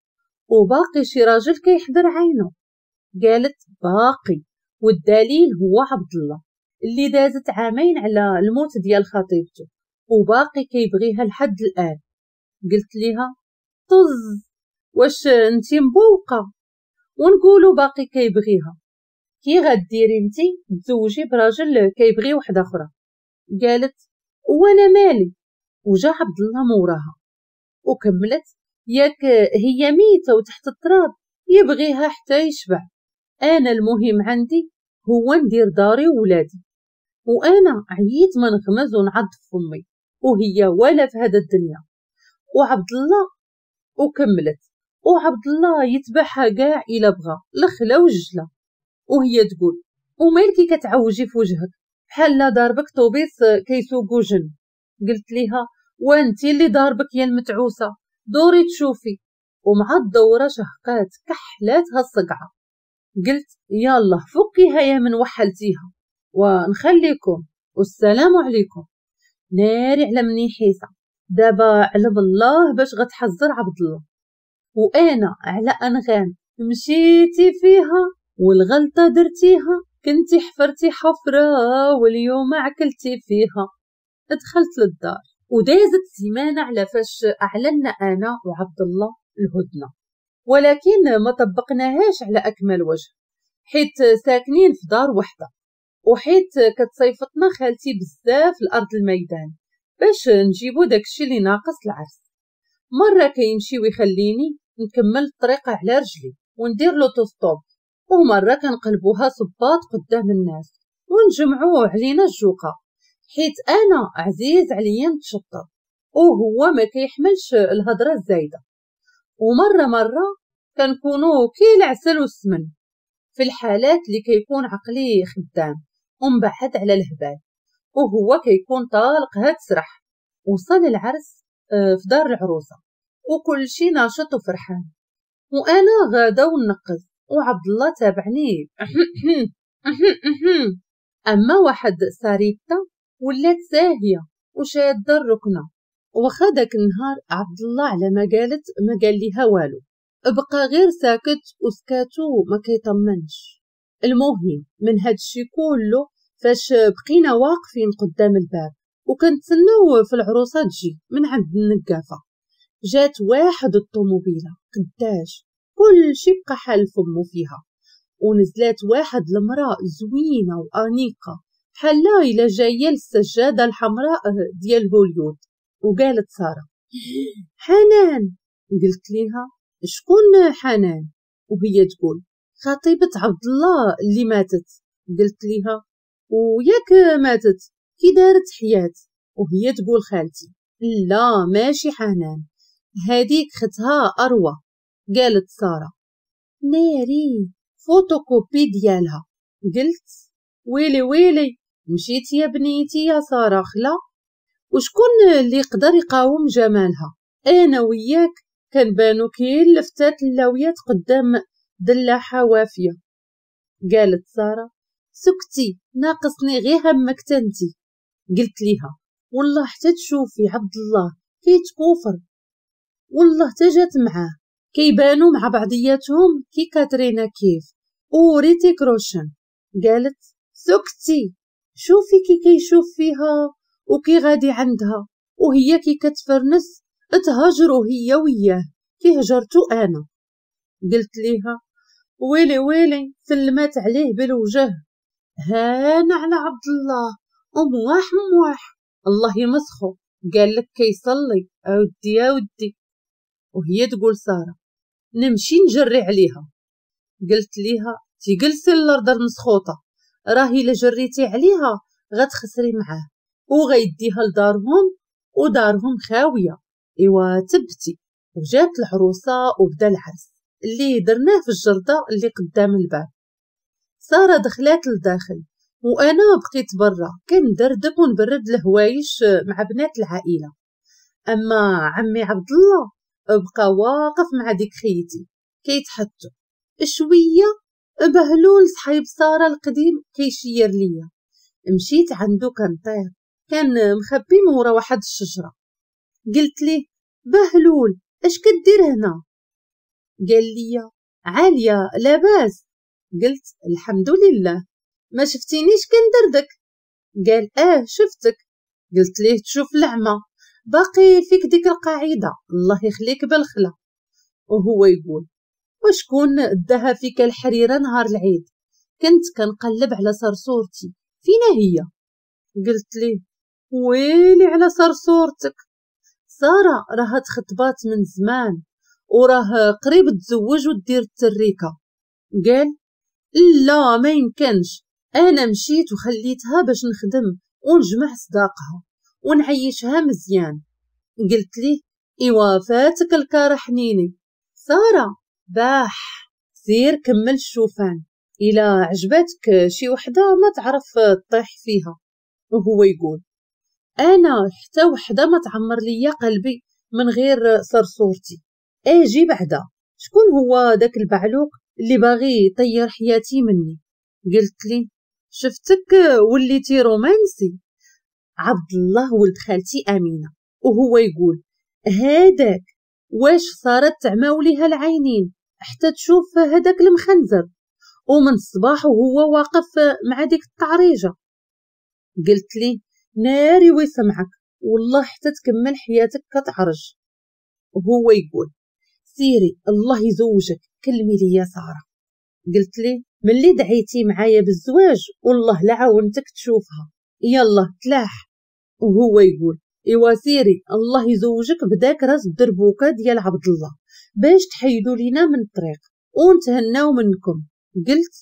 وباقي شي راجل كيحضر عينه. قالت باقي، والدليل هو عبد الله اللي دازت عامين على الموت ديال خطيبته وباقي كيبغيها لحد الان. قلت ليها طز، واش انتي مبوقه؟ ونقولوا باقي كيبغيها، كي غديري انتي تزوجي براجل كيبغي وحده اخرى؟ قالت وانا مالي. وجا عبد الله موراها وكملت ياك هي ميته وتحت التراب يبغيها حتى يشبع، انا المهم عندي هو ندير داري وولادي، وانا عييت ما نغمز ونعض فمي وهي ولا في هذا الدنيا. وعبد الله وكملت وعبد الله يتبعها كاع الا بغى الخلا والجلا. وهي تقول ومالكي كتعوجي في وجهك بحال لا ضاربك طوبيس كيسوقو جن. قلت ليها وانتي اللي ضاربك يا المتعوسه، دوري تشوفي. ومع الدورة شهقات كحلاتها الصقعه. قلت يلا فكيها يا من وحلتيها ونخليكم والسلام عليكم. ناري على مني حيسه دابا علم الله باش غتحذر عبد الله، وانا على انغام مشيتي فيها والغلطة درتيها، كنتي حفرتي حفره واليوم عكلتي فيها. دخلت للدار ودازت سيمانه على فاش اعلنا انا وعبد الله الهدنة، ولكن ما طبقناهاش على اكمل وجه حيت ساكنين في دار وحده، وحيت كتصيفطنا خالتي بزاف لارض الميدان باش نجيبو داكشي اللي ناقص العرس. مرة كيمشي ويخليني نكمل الطريق على رجلي وندير l'autostop، ومرة كنقلبوها صباط قدام الناس ونجمعوه علينا الجوقه، حيت انا عزيز عليا نتشطر وهو ما كيحملش الهضرة الزايدة. ومرة مرة كنكونوا كي العسل والسمن في الحالات اللي كيكون عقلي خدام ومبعد على الهبال وهو كيكون طالق هاد سرح. وصل العرس في دار العروسة وكل شي ناشط وفرحان، وانا غاده ونقز وعبد الله تابعني. اما واحد ساريتا ولات ساهيه وشاده الركنه. وخا داك النهار عبد الله على ما قالت ما قال ليها والو، بقى غير ساكت وسكاتو ما كيطمنش. المهم من هاد الشي كله فاش بقينا واقفين قدام الباب وكنتسناو في العروسة تجي من عند النقافه، جات واحد الطوموبيله قداش كل شي بقى حال فمو فيها، ونزلات واحد المراة زوينة وانيقه بحال الا جاية للسجاده الحمراء ديال هوليود. وقالت ساره حنان. قلت ليها شكون حنان؟ وهي تقول خطيبه عبد الله اللي ماتت. قلت ليها وياك ماتت كي دارت حياة؟ وهي تقول خالتي لا ماشي حنان، هذيك ختها اروى. قالت ساره ناري فوتوكوبي ديالها. قلت ويلي ويلي مشيتي يا بنيتي يا ساره خلا، وشكون اللي يقدر يقاوم جمالها؟ انا وياك كنبانو كي لفتات اللاويات قدام دلاحه وافيه. قالت ساره سكتي ناقصني غير همك تنتي. قلت ليها والله حتى تشوفي عبد الله كيتكوفر، والله تجات معاه كيبانو مع بعضياتهم كي كاترينا كيف وريتيك روشن. قالت سكتي شوفي كي كيشوف فيها وكي غادي عندها وهي كي كتفرنس تهاجروا هي وياه كي هجرتو انا. قلت ليها ويلي ويلي سلمات عليه بالوجه، هانا على عبد الله ومواح مواح الله يمسخو، قال لك كيصلي اودي يا ودي. وهي تقول ساره نمشي نجري عليها. قلت ليها تيجلسي الارض المسخوطه، راه الا جريتي عليها غتخسري معاه وغيديها لدارهم ودارهم خاوية، ايوا تبتي. وجات العروسة وبدا العرس اللي درناه في الجردة اللي قدام الباب. سارة دخلات لداخل وانا بقيت برا كندردك ونبرد الهوايش مع بنات العائلة. اما عمي عبد الله بقى واقف مع ديك خيتي كيتحطوا شوية. بهلول صحيب ساره القديم كيشير ليا، مشيت عنده كنطير، كان مخبي من ورا واحد الشجرة. قلت ليه بهلول اش كدير هنا؟ قال لي عالية لاباس. قلت الحمد لله، ما شفتينيش كندردك؟ قال اه شفتك. قلت ليه تشوف العمى، باقي فيك ديك القاعدة، الله يخليك بالخلا. وهو يقول وشكون داها فيك الحريره نهار العيد؟ كنت كنقلب على صرصورتي، فينا هي؟ قلت ليه ويلي على صرصورتك، ساره راها تخطبات من زمان وراه قريب تزوج ودير التريكه. قال لا ما يمكنش، انا مشيت وخليتها باش نخدم ونجمع صداقها ونعيشها مزيان. قلت ليه ايوا فاتك الكار حنيني، ساره باح سير كمل الشوفان، الى عجباتك شي وحده ما تعرف تطيح فيها. وهو يقول انا حتى وحده ما تعمر ليا قلبي من غير صرصورتي. اجي بعدا شكون هو داك البعلوق اللي باغي يطير حياتي مني؟ قلت لي شفتك وليتي رومانسي. عبد الله ولد خالتي امينه. وهو يقول هاداك واش صارت تعماو ليها العينين حتى تشوف هداك المخنزر، ومن الصباح وهو واقف مع ديك الطعريجه. قلت لي ناري ويسمعك، والله حتى تكمل حياتك كتعرج. وهو يقول سيري الله يزوجك كلمي لي ساره. قلت لي ملي دعيتي معايا بالزواج والله لا عاونتك تشوفها، يلا تلاح. وهو يقول ايوا سيري الله يزوجك بداك راس الدربوكه ديال عبد الله باش تحيدوا لينا من الطريق ونتهناو منكم. قلت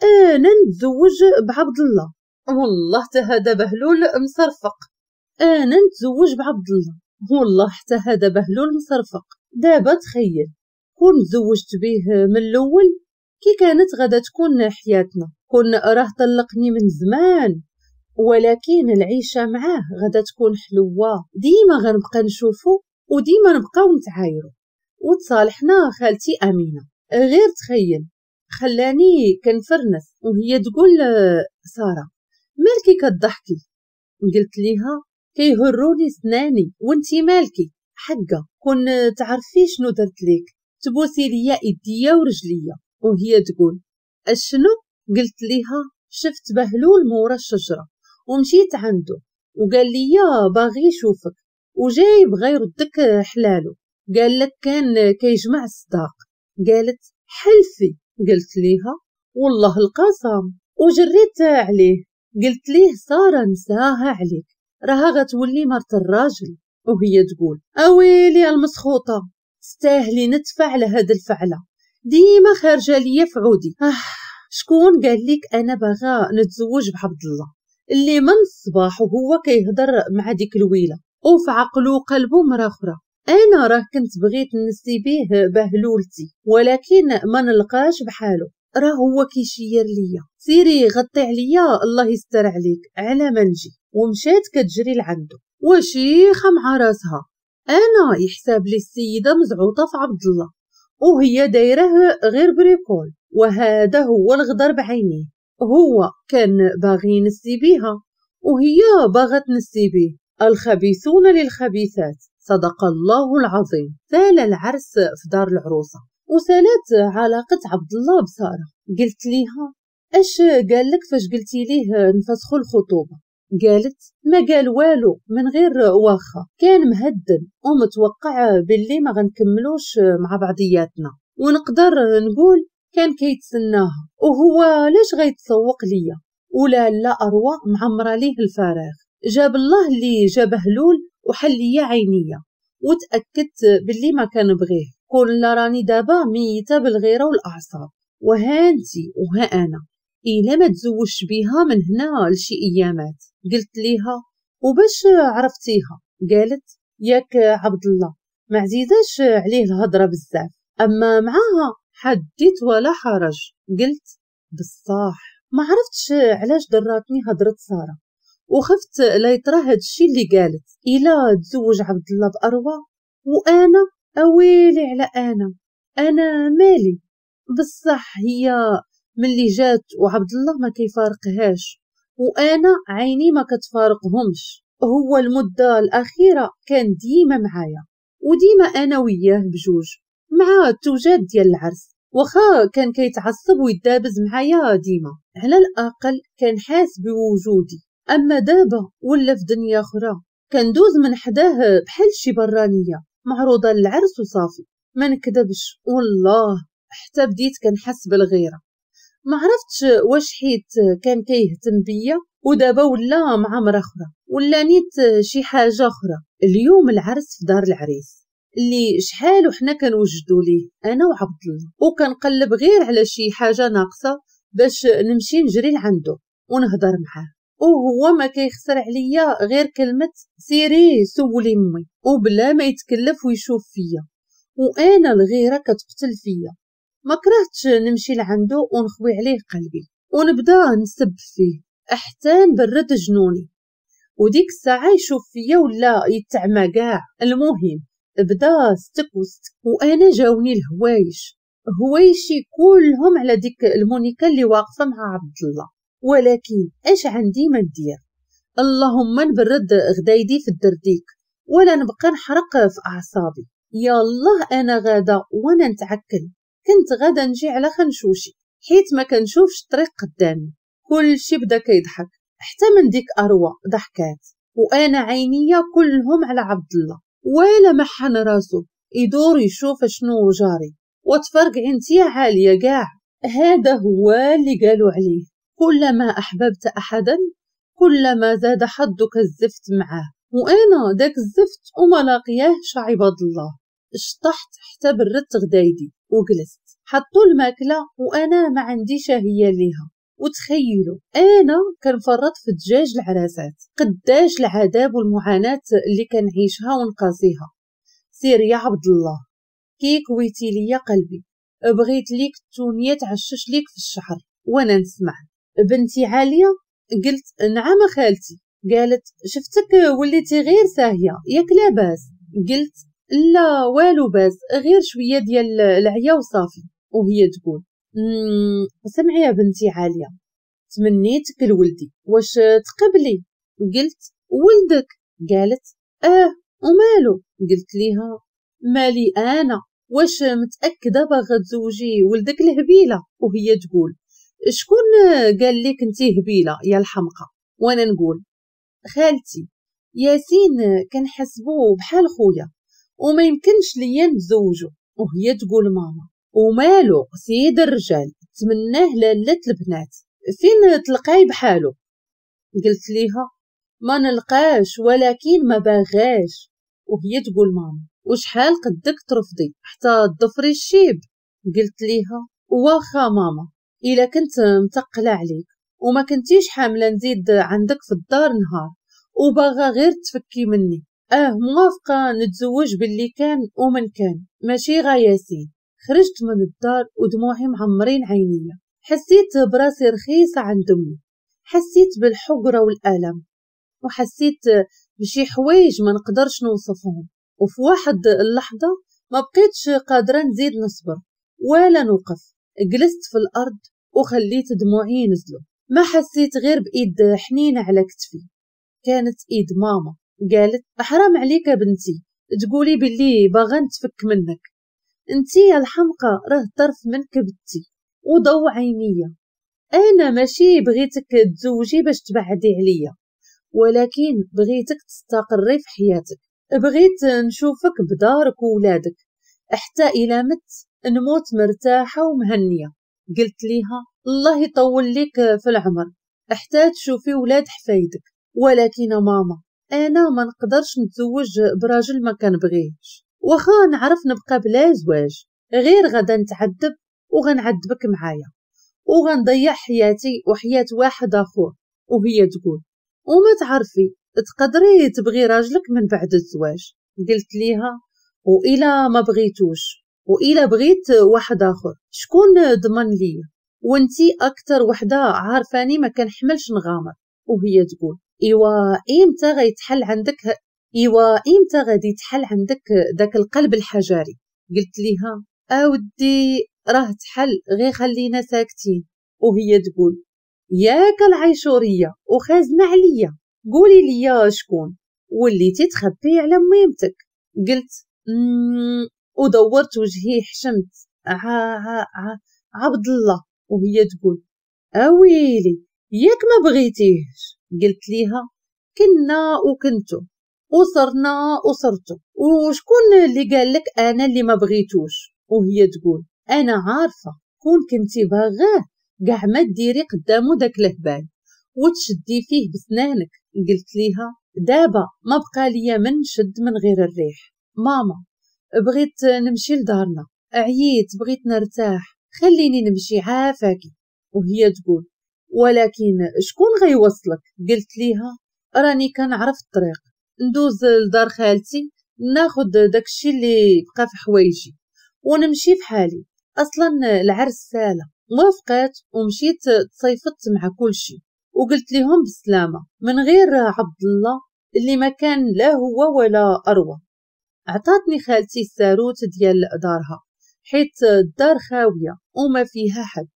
انا نتزوج بعبد الله، والله حتى هذا بهلول مصرفق. انا نتزوج بعبد الله، والله حتى هذا بهلول مصرفق. دابا تخيل كون تزوجت به من الاول كي كانت غادا تكون حياتنا، كون راه طلقني من زمان، ولكن العيشة معاه غادا تكون حلوة، ديما غنبقى نشوفو وديما نبقاو نتعايرو. وتصالحنا خالتي امينه. غير تخيل خلاني كنفرنس وهي تقول ساره مالكي كضحكي؟ قلت ليها كيهروني سناني وانتي مالكي؟ حقه كون تعرفي شنو درت ليك تبوسي ليا ايديا ورجليا. وهي تقول اشنو؟ قلت ليها شفت بهلول مورا الشجرة ومشيت عنده وقال لي باغي يشوفك وجاي بغا يردك حلالو، قال لك كان كيجمع الصداق. قالت حلفي. قلت ليها والله القسم. وجريت عليه قلت ليه ساره نساها عليك راها غتولي مرت الراجل. وهي تقول اويلي المسخوطه تستاهلي ندفع على هاد الفعلة، ديما خارجه ليا في عودي. شكون قال لك انا باغا نتزوج بعبد الله اللي من الصباح وهو كيهضر مع ديك الويله وفي عقلو وقلبو مرة اخرى؟ انا راه كنت بغيت نسي به بهلولتي ولكن ما نلقاش بحالو، راه هو كيشير ليا سيري غطي عليا الله يستر عليك على ما نجي. ومشات كتجري لعندو وشيخه مع راسها. انا يحساب لي السيدة مزعوطه في عبد الله وهي دايرة غير bricole، وهذا هو الغدر بعينيه. هو كان باغي ينسي بيها وهي باغا تنسي بيه. الخبيثون للخبيثات، صدق الله العظيم. سال العرس في دار العروسة وسالت علاقة عبد الله بساره. قلت ليها اش قال لك فاش قلتي ليه نفسخوا الخطوبة؟ قالت ما قال والو من غير واخا، كان مهدن ومتوقع باللي ما غنكملوش مع بعضياتنا، ونقدر نقول كان كيتسناها، وهو علاش غيتسوق ليا ولا لا اروى معمره ليه الفراغ. جاب الله اللي جاب هلول وحل ليا عينيا وتاكدت باللي ما كنبغيه. كون لا راني دابا ميته بالغيره والاعصاب، وهانتي وها انا الا ما تزوجش بيها من هنا لشي ايامات. قلت ليها وباش عرفتيها؟ قالت ياك عبد الله ما عزيزاش عليه الهضرة بزاف، اما معاها حديت ولا حرج. قلت بصح ما عرفتش علاش ضراتني هضره ساره، وخفت لا يطرا هادشي اللي قالت الا تزوج عبد الله باروى وانا اويلي على انا مالي. بصح هي ملي جات وعبد الله ما كيفارقهاش وانا عيني ما كتفارقهمش. هو المدة الاخيرة كان ديما معايا وديما انا وياه بجوج مع التوجات ديال العرس، واخا كان كيتعصب ويدابز معايا ديما، على الاقل كان حاس بوجودي. اما دابا ولا في دنيا اخرى، كندوز من حداه بحال شي برانيه معروضة للعرس وصافي. ما نكذبش والله حتى بديت كنحس بالغيره، ما عرفتش واش حيت كان كيهتم بيا ودابا ولا مع مرا اخرى ولا نيت شي حاجة اخرى. اليوم العرس في دار العريس اللي شحال وحنا كنوجدوا ليه انا وعبد الله، وكنقلب غير على شي حاجة ناقصه باش نمشي نجري لعنده ونهضر معاه، وهو ما كيخسر عليا غير كلمة سيري سولي امي، وبلا ما يتكلف ويشوف فيا. وانا الغيرة كتقتل فيا، ما كرهتش نمشي لعنده ونخوي عليه قلبي ونبدا نسب فيه حتى نبرد جنوني، وديك الساعة يشوف فيا ولا يتعمى كاع. المهم بدا ستك وستك، وانا جاوني الهوايش، هوايشي كلهم على ديك المونيكا اللي واقفة مع عبد الله. ولكن اش عندي ما ندير؟ اللهم نبرد غدايدي في الدرديك ولا نبقى نحرق في اعصابي. يالله انا غاده وانا نتعكل، كنت غاده نجي على خنشوشي حيت ما كنشوفش الطريق قدامي. كلشي بدا كيضحك حتى من ديك اروى ضحكات، وانا عينيا كلهم على عبد الله ولا محن راسو يدور يشوف شنو جاري. وتفرقع انتي عالية كاع. هذا هو اللي قالوا عليه، كلما احببت احدا كلما زاد حظك الزفت معاه، وانا داك الزفت وما لاقياهش عباد الله. شطحت حتى بردت غدايدي وجلست، حطوا الماكلة وانا ما عندي شهية ليها. وتخيلوا انا كنفرط في دجاج العراسات، قداش العذاب والمعاناة اللي كنعيشها ونقاسيها. سير يا عبد الله كي كويتي ليا قلبي، بغيت ليك التونيه تعشش ليك في الشعر وانا نسمع. بنتي عالية؟ قلت نعم خالتي. قالت شفتك وليتي غير ساهيه ياك لاباس؟ قلت لا والو باس، غير شوية ديال العيا وصافي. وهي تقول سمعي يا بنتي عالية، تمنيتك لولدي، واش تقبلي؟ قلت ولدك؟ قالت اه ومالو؟ قلت ليها مالي انا، واش متاكدة باغا تزوجي ولدك الهبيله؟ وهي تقول شكون قال لك انتي هبيله يا الحمقى؟ وانا نقول خالتي ياسين كنحسبو بحال خويا وما يمكنش ليا نتزوجو. وهي تقول ماما ومالو سيد الرجال تمناه لالة البنات، فين تلقاي بحالو؟ قلت ليها ما نلقاش ولكن ما باغاش. وهي تقول ماما وشحال قدك ترفضي حتى تضفري الشيب؟ قلت ليها واخا ماما الا كنت متقله عليك وما كنتيش حامله نزيد عندك في الدار نهار وباغا غير تفكي مني، موافقة نتزوج باللي كان ومن كان، ماشي غا ياسين. خرجت من الدار ودموعي معمرين عينيا، حسيت براسي رخيصة عند امي، حسيت بالحقره والالم، وحسيت بشي حوايج ما نقدرش نوصفهم. وفي واحد اللحظة ما بقيتش قادرة نزيد نصبر ولا نوقف، جلست في الارض وخليت دموعي ينزلوا. ما حسيت غير بايد حنينه على كتفي، كانت ايد ماما. قالت حرام عليك يا بنتي تقولي باللي باغا نتفك منك، انتي يا الحمقى راه طرف من كبدتي وضو عينيا، انا ماشي بغيتك تزوجي باش تبعدي عليا، ولكن بغيتك تستقري في حياتك، بغيت نشوفك بدارك وولادك حتى الى مت نموت مرتاحة ومهنيه. قلت ليها الله يطول لك في العمر حتى تشوفي ولاد حفايدك، ولكن ماما انا ما نقدرش نتزوج براجل ما كنبغيهش، واخا نعرف نبقى بلا زواج، غير غدا نتعذب وغنعذبك معايا وغنضيع حياتي وحياة واحد اخر. وهي تقول وما تعرفي تقدري تبغي راجلك من بعد الزواج. قلت ليها وإلا ما بغيتوش، وإلا بغيت واحد آخر شكون ضمن ليا؟ وانتي أكتر وحدة عارفاني ما كنحملش نغامر. وهي تقول إيوا إمتى غيتحل عندك، إيوا إمتى غادي يتحل عندك داك القلب الحجري؟ قلت ليها أودي راه تحل، غير خلينا ساكتين. وهي تقول ياك العيشورية وخازنة عليا، قولي لي شكون وليتي تخبي على ميمتك. قلت ودورت وجهي حشمت، عبد الله. وهي تقول اويلي ياك ما بغيتيهش. قلت ليها كنا وكنتو وصرنا وصرتو، وشكون اللي قال لك انا اللي ما بغيتوش؟ وهي تقول انا عارفه كون كنتي باغاه كاع ما ديري قدامو داك الهبال وتشدي فيه بسنانك. قلت ليها دابا ما بقى ليا من شد من غير الريح. ماما بغيت نمشي لدارنا، عييت بغيت نرتاح، خليني نمشي عافاكي. وهي تقول ولكن شكون غيوصلك؟ قلت ليها راني كنعرف الطريق، ندوز لدار خالتي ناخد داكشي اللي بقى في حوايجي ونمشي في حالي، اصلا العرس ساله. وافقات ومشيت تصيفطت مع كلشي وقلت لهم بالسلامة من غير عبد الله اللي ما كان لا هو ولا اروى. عطاتني خالتي الساروت ديال دارها حيت الدار خاوية وما فيها حد،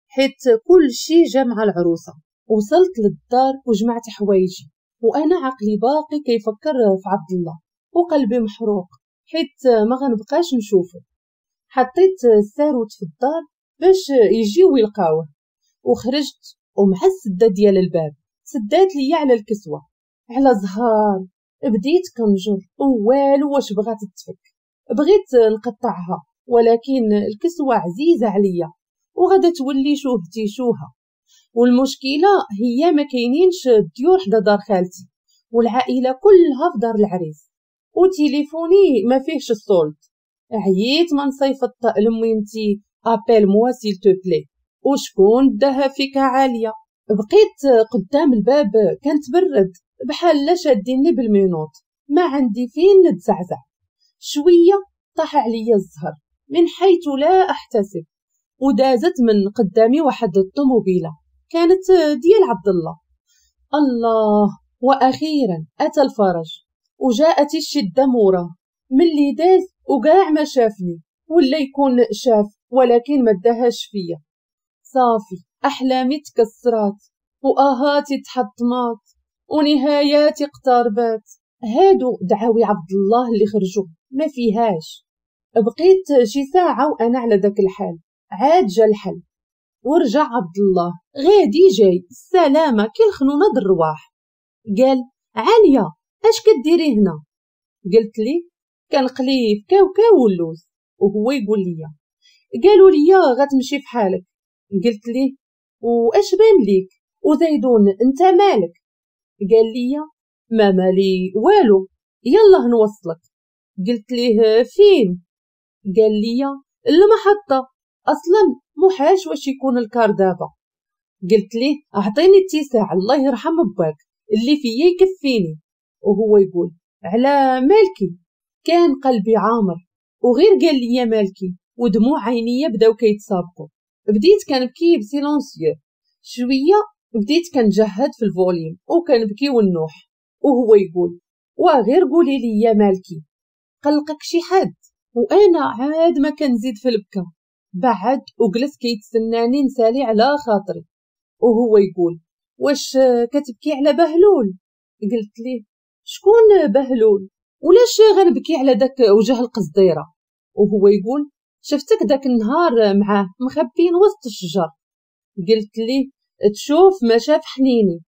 حيت كل شي جا مع العروسة. وصلت للدار وجمعت حوايجي وانا عقلي باقي كيفكر في عبد الله وقلبي محروق حيت ما غنبقاش نشوفه. حطيت الساروت في الدار باش يجيو يلقاوه، وخرجت ومع السده ديال الباب سدات ليا على الكسوة على زهار. بديت كنجر ووالو واش بغات تفك، بغيت نقطعها ولكن الكسوة عزيزه عليا وغادا تولي شوهتي شوها. والمشكلة هي ما كاينينش الديور حدا دار خالتي والعائلة كلها في دار العريس، وتليفوني ما فيهش ال solde. عييت ما نصيفط لميمتي appelle-moi s'il te plaît، وشكون داها فيك عالية. بقيت قدام الباب كنتبرد بحال لا شاديني بال menottes، ما عندي فين نتزعزع. شوية طاح عليا الزهر من حيث لا احتسب، ودازت من قدامي واحد الطوموبيله كانت ديال عبد الله. الله، واخيرا اتى الفرج وجاءت الشدة موراه. ملي داز وكاع ما شافني ولا يكون شاف ولكن ما داهاش فيا. صافي احلامي تكسرات واهاتي تحطمات ونهاياتي اقتربات. هادو دعاوي عبد الله اللي خرجوا ما فيهاش. بقيت شي ساعة وانا على داك الحال، عاد جا الحل ورجع عبد الله غادي جاي السلامة كي الخنونه د الرواح. قال عالية اش كديري هنا؟ قلت لي كنقلي في كاوكاو واللوز. وهو يقول لي قالوا لي غتمشي في حالك. قلت ليه واش بان ليك وزيدون انت مالك؟ قال لي ما مالي والو، يلا نوصلك. قلت ليه فين؟ قال لي المحطة، اصلا محالش واش يكون الكار دابا. قلت ليه اعطيني اتساع الله يرحم باك اللي فيا يكفيني. وهو يقول على مالكي؟ كان قلبي عامر وغير قال لي مالكي ودموع عينيا بداو كيتسابقوا. بديت كنبكي ب silencieux شوية، بديت كنجهد في ال volume وكنبكي والنوح. وهو يقول وغير قولي لي يا مالكي قلقك شي حد؟ وانا عاد ما كنزيد في البكا. بعد وجلس كيتسناني نسالي على خاطري. وهو يقول واش كتبكي على بهلول؟ قلت ليه شكون بهلول ولاش غنبكي على داك وجه القصديره؟ وهو يقول شفتك داك النهار معاه مخبين وسط الشجر. قلت ليه تشوف ما شاف حنيني،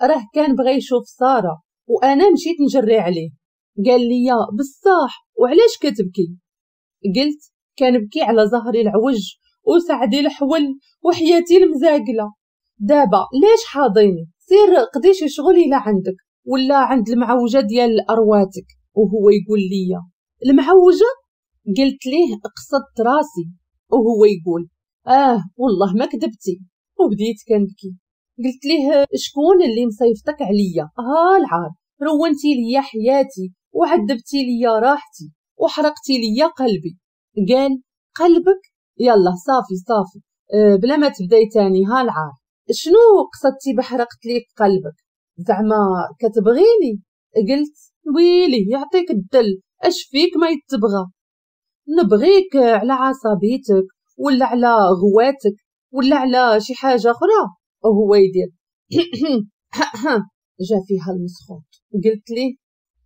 راه كان بغى يشوف ساره وانا مشيت نجري عليه. قال لي بصح وعلاش كتبكي؟ قلت كنبكي على زهري العوج وسعدي الحول وحياتي المزاقله. دابا ليش حاضيني؟ سير قضي شي شغل الا عندك ولا عند المعوجه ديال ارواتك. وهو يقول لي المعوجه؟ قلت ليه قصدت راسي. وهو يقول والله ما كذبتي. وبديت كنبكي. قلت ليه شكون اللي مصيفتك عليا؟ ها العار، رونتي ليا حياتي وعذبتي ليا راحتي. وحرقتي ليا قلبي. قال قلبك؟ يلا صافي صافي، بلا ما تبداي تاني، ها العار. شنو قصدتي بحرقت ليك قلبك؟ زعما كتبغيني؟ قلت ويلي يعطيك الدل، اش فيك ما يتبغى؟ نبغيك على عصبيتك ولا على غواتك ولا على شي حاجة اخرى؟ وهو يدير جا فيها المسخوط. قلت ليه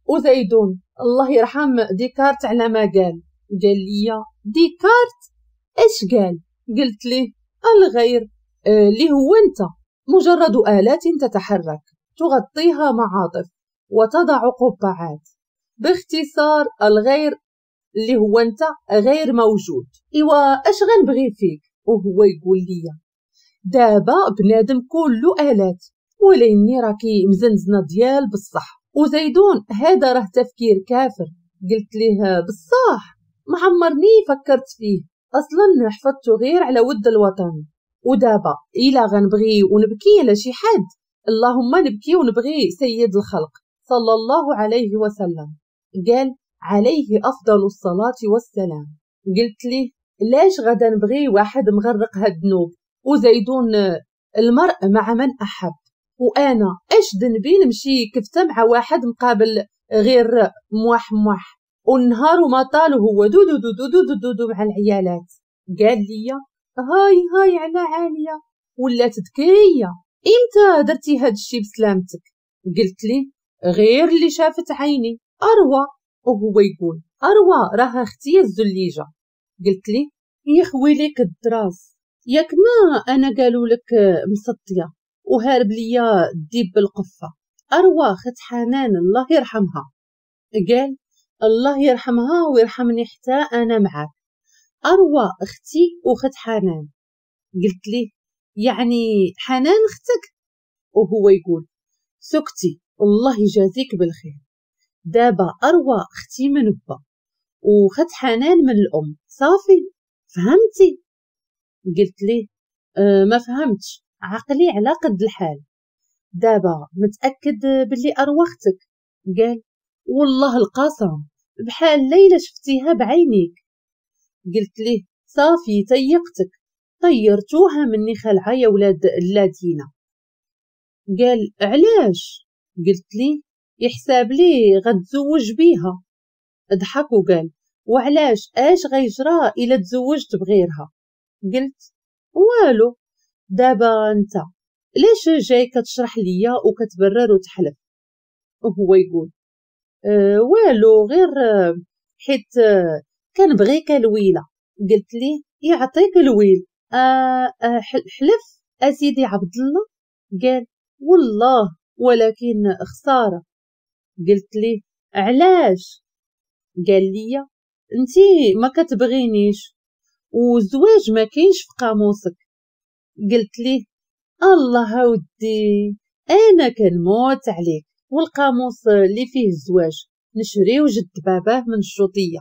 وزيدون الله يرحم ديكارت على ما قال. قال لي ديكارت اش قال؟ قلت ليه الغير اللي هو انت، مجرد آلات تتحرك تغطيها معاطف وتضع قبعات. باختصار الغير اللي هو انت غير موجود. ايوا اش غنبغي فيك؟ وهو يقول لي دابا بنادم كله آلات، وليني راكي مزنزنه ديال بصح. وزيدون هذا راه تفكير كافر. قلت ليه بصح ما عمرني فكرت فيه، اصلا حفظته غير على ود الوطن. ودابا الا غنبغي ونبكي على شي حد، اللهم نبكي ونبغي سيد الخلق صلى الله عليه وسلم. قال عليه افضل الصلاة والسلام. قلت ليه لاش غدا نبغي واحد مغرق هاد الذنوب؟ وزيدون المرء مع من احب، وانا اش ذنبي نمشي كفته مع واحد مقابل غير مواح مواح، والنهار وما طال وهو دو دو دو دو دو دو, دو مع العيالات. قال لي هاي هاي على عالية ولات ذكية، امتى درتي هاد الشي بسلامتك؟ قلت لي غير اللي شافت عيني اروى. وهو يقول اروى راها اختي الزليجه. قلت لي يخوي ليك الدراس، ياك ما انا قالوا لك مسطيه وهارب ليا الديب بالقفه، اروى خت حنان الله يرحمها. قال الله يرحمها ويرحمني حتى انا معاك، اروى اختي وخت حنان. قلت ليه يعني حنان اختك؟ وهو يقول سكتي الله يجازيك بالخير، دابا اروى اختي من با وخت حنان من الام، صافي فهمتي؟ قلت ليه ما فهمتش، عقلي على قد الحال. دابا متاكد باللي اروى اختك؟ قال والله القسم بحال ليلى شفتيها بعينيك. قلت ليه صافي تيقتك، طيرتوها مني خلعه يا ولاد اللادينه. قال علاش؟ قلت ليه يحساب لي غتزوج بيها. ضحك وقال وعلاش، اش غيجرى الا تزوجت بغيرها؟ قلت والو. دابا انت ليش جاي كتشرح ليا وكتبرر وتحلف؟ وهو يقول والو غير حيت كنبغيك الويله. قلت ليه يعطيك الويل، حلف اسيدي عبد الله؟ قال والله ولكن خسارة. قلت ليه علاش؟ قال لي انتي ما كتبغينيش والزواج ما كاينش في قاموسك. قلت ليه الله ودي انا كنموت عليك، والقاموس اللي فيه الزواج نشريو جد باباه من الشوطيه.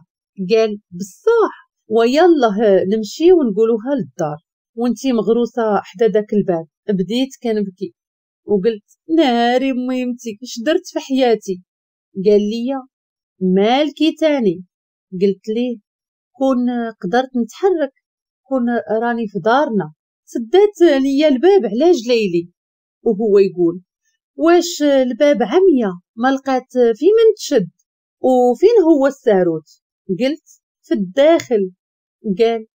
قال بصح، ويلا نمشي ونقولوها للدار وانتي مغروسه حدا داك الباب. بديت كنبكي وقلت ناري ميمتي اش درت في حياتي. قال لي مالكي تاني؟ قلت ليه كون قدرت نتحرك كون راني في دارنا، سدات ليا الباب على جليلي. وهو يقول واش الباب عمية ما لقات في من تشد، وفين هو الساروت؟ قلت في الداخل. قال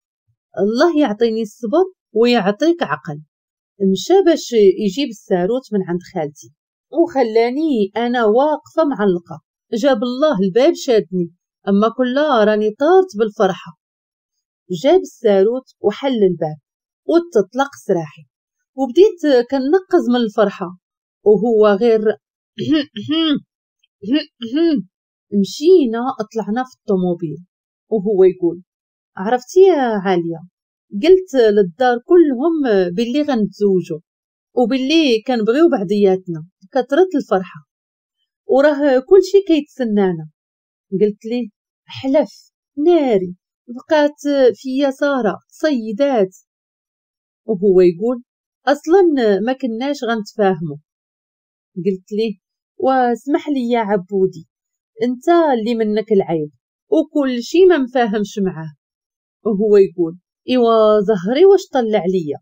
الله يعطيني الصبر ويعطيك عقل. مشى باش يجيب الساروت من عند خالتي وخلاني انا واقفة معلقه. جاب الله الباب شادني، اما كلها راني طارت بالفرحه. جاب الساروت وحل الباب وتطلق سراحي، وبديت كنقز من الفرحة. وهو غير مشينا طلعنا في الطوموبيل. وهو يقول عرفتي يا عالية، قلت للدار كلهم باللي غنتزوجوا وباللي كنبغيو بعضياتنا، كثرت الفرحة وراه كلشي كيتسنانا. قلت ليه حلف ناري بقات فيا ساره صيدات. وهو يقول اصلا ما كناش غنتفاهموا. قلت ليه واسمح لي يا عبودي، انت اللي منك العيب، وكل شي ما مفاهمش معاه. وهو يقول ايوا زهري واش طلع ليا،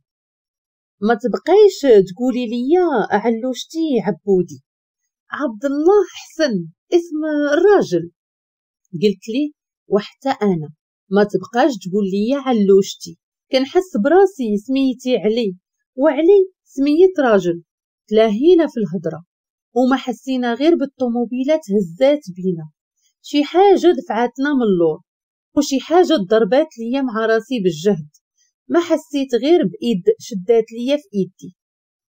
ما تبقايش تقولي ليا علوشتي عبودي، عبد الله حسن اسم الراجل. قلت لي وحتى انا ما تبقاش تقول لي علوشتي، كنحس براسي سميتي علي وعلي سميت راجل. تلاهينا في الهضره وما حسينا غير بالطوموبيلات هزات بينا، شي حاجه دفعتنا من اللور وشي حاجه ضربات ليا مع راسي بالجهد، ما حسيت غير بايد شدات ليا في ايدي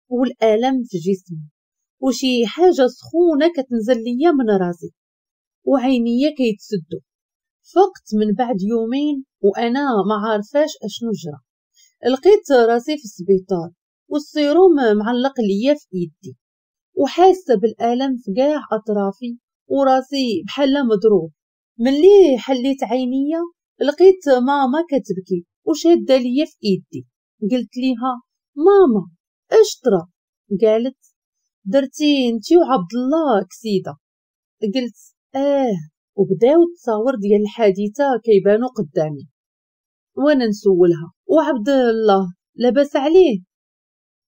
والالم في جسمي وشي حاجه سخونه كتنزل ليا من راسي وعينيا كيتسدوا. فقت من بعد يومين وانا ما عارفاش اشنو جرى، لقيت راسي في السبيطار والسيروم معلق ليا في ايدي وحاسه بالالم في كاع اطرافي وراسي بحال مضروب. ملي حليت عينيا لقيت ماما كتبكي وشاده ليا في ايدي. قلت ليها ماما اش طرا؟ قالت درتي انتي وعبد الله كسيده. قلت اه، وبداو التصاور ديال الحادثه كيبانو قدامي وانا نسولها وعبد الله لاباس عليه؟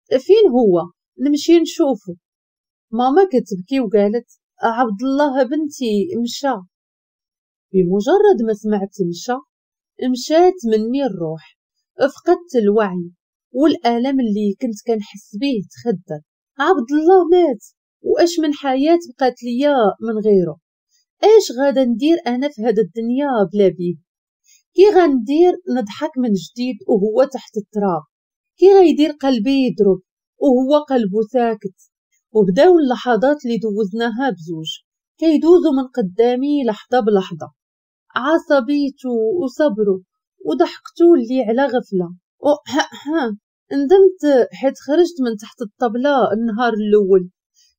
فين هو؟ نمشي نشوفه. ماما كتبكي وقالت عبد الله بنتي مشى. بمجرد ما سمعت مشى مشات مني الروح، فقدت الوعي والالم اللي كنت كنحس به تخدر. عبد الله مات، واش من حياه بقات ليا من غيره؟ اش غادا ندير انا في هذا الدنيا بلا بيه؟ كي غندير نضحك من جديد وهو تحت التراب؟ كي غيدير قلبي يضرب وهو قلبه ساكت؟ وبداو اللحظات اللي دوزناها بزوج كيدوزو من قدامي لحظه بلحظه، عصبيته وصبره وضحكته اللي على غفله. ندمت حيت خرجت من تحت الطبله النهار الاول،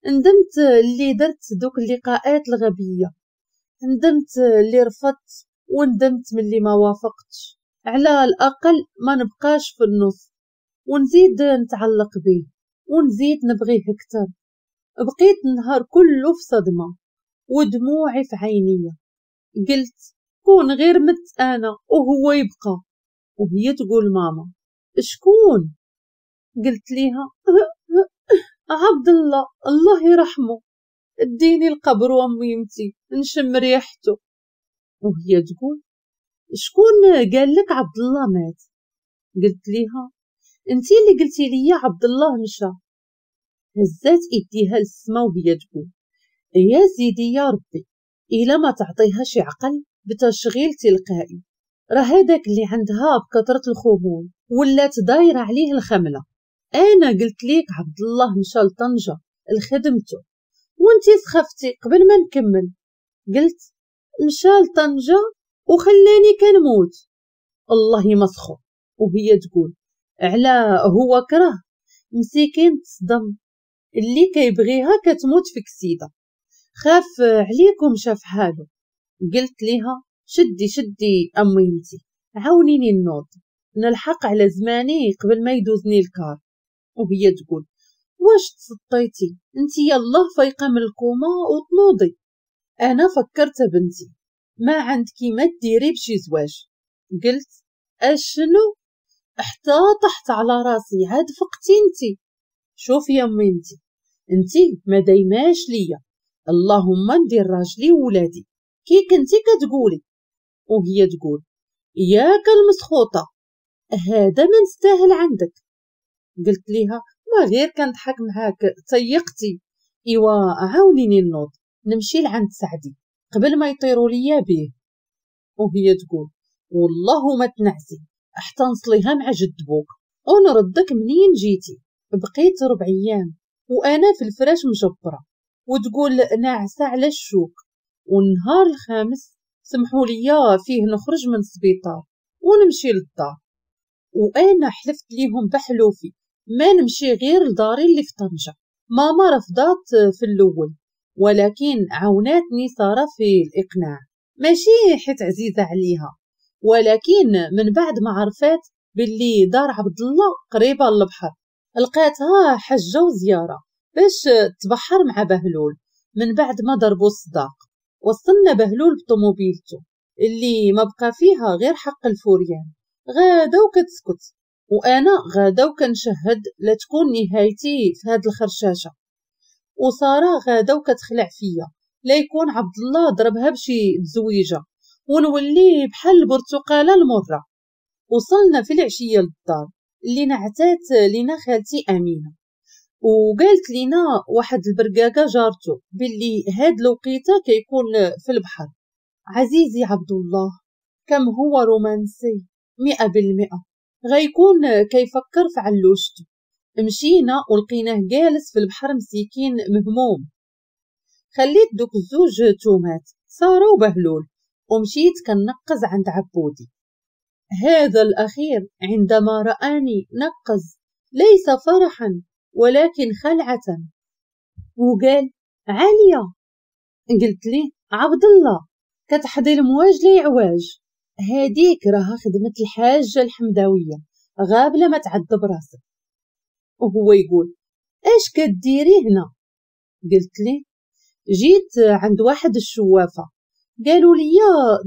ندمت اللي درت دوك اللقاءات الغبيه، ندمت اللي رفضت، وندمت من اللي ما وافقتش. على الاقل ما نبقاش في النص ونزيد نتعلق به ونزيد نبغيه اكثر. بقيت النهار كله في صدمه ودموعي في عيني. قلت كون غير مت انا وهو يبقى. وهي تقول ماما شكون؟ قلت ليها عبد الله الله يرحمه، اديني القبر واميمتي نشم ريحته. وهي تقول شكون قال لك عبد الله مات؟ قلت ليها انتي اللي قلتي لي عبد الله مشى. هزات ايديها للسما وهي تقول يا سيدي يا ربي الا ما تعطيها شي عقل بتشغيل تلقائي، راه هذاك اللي عندها بكثرة الخمول ولات دايره عليه الخمله. انا قلت ليك عبد الله مشى لطنجه لخدمته وانتي سخفتي قبل ما نكمل. قلت مشى لطنجه وخلاني كنموت، الله يمسخو. وهي تقول على هو كره مسكين تصدم، اللي كيبغيها كتموت في كسيده، خاف عليكم شاف حاله. قلت ليها شدي شدي اميمتي عاونيني النوض نلحق على زماني قبل ما يدوزني الكار. وهي تقول واش تسطيتي انتي يالله فايقه من الكوما وتنوضي؟ انا فكرت بنتي ما عندك ما ديري بشي زواج. قلت اشنو؟ حتى طحت على راسي عاد فقتي انتي. شوفي يا ميمتي انتي ما دايماش ليا، اللهم ندير راجلي وولادي كي كنتي كتقولي. وهي تقول ياك المسخوطه هذا ما نستاهل عندك. قلت ليها ما غير كنضحك معاك تيقتي، ايوا عاونيني النوض نمشي لعند سعدي قبل ما يطيروا ليا بيه. وهي تقول والله ما تنعسي حتى نصليها مع جد بوك ونردك منين جيتي. بقيت 4 ايام وانا في الفراش مجبره وتقول ناعسه على الشوك. والنهار الخامس سمحوا لي فيه نخرج من السبيطار ونمشي للدار، وانا حلفت ليهم بحلوفي ما نمشي غير لداري اللي في طنجة. ماما رفضات في الاول ولكن عاوناتني ساره في الاقناع، ماشي حيت عزيزه عليها، ولكن من بعد ما عرفات باللي دار عبد الله قريبه للبحر لقاتها حجه وزياره باش تبحر مع بهلول. من بعد ما ضربوا الصداق وصلنا بهلول بطوموبيلته اللي ما بقى فيها غير حق الفوريان، غادا وكتسكت، وانا غادا وكنشهد لا تكون نهايتي في هاد الخرشاشه. وسارة غادا وكتخلع فيا لا يكون عبد الله ضربها بشي تزويجه ونولي بحال البرتقاله المرة. وصلنا في العشية للدار اللي نعتات لينا خالتي امينه، وقالت لينا واحد البرقاقه جارته باللي هاد الوقيته كيكون في البحر. عزيزي عبد الله كم هو رومانسي 100%، غيكون كيفكر في علوشته. مشينا ولقيناه جالس في البحر مسكين مهموم. خليت دوك الزوج تومات سارة وبهلول ومشيت كنقز عند عبودي. هذا الأخير عندما رآني نقز ليس فرحا ولكن خلعة، وقال عالية. قلت لي عبد الله كتحضي المواج لي عواج، هاديك راها خدمة الحاجة الحمداوية غابلة ما تعذب راسك. وهو يقول اش كديري هنا؟ قلت لي جيت عند واحد الشوافة قالوا لي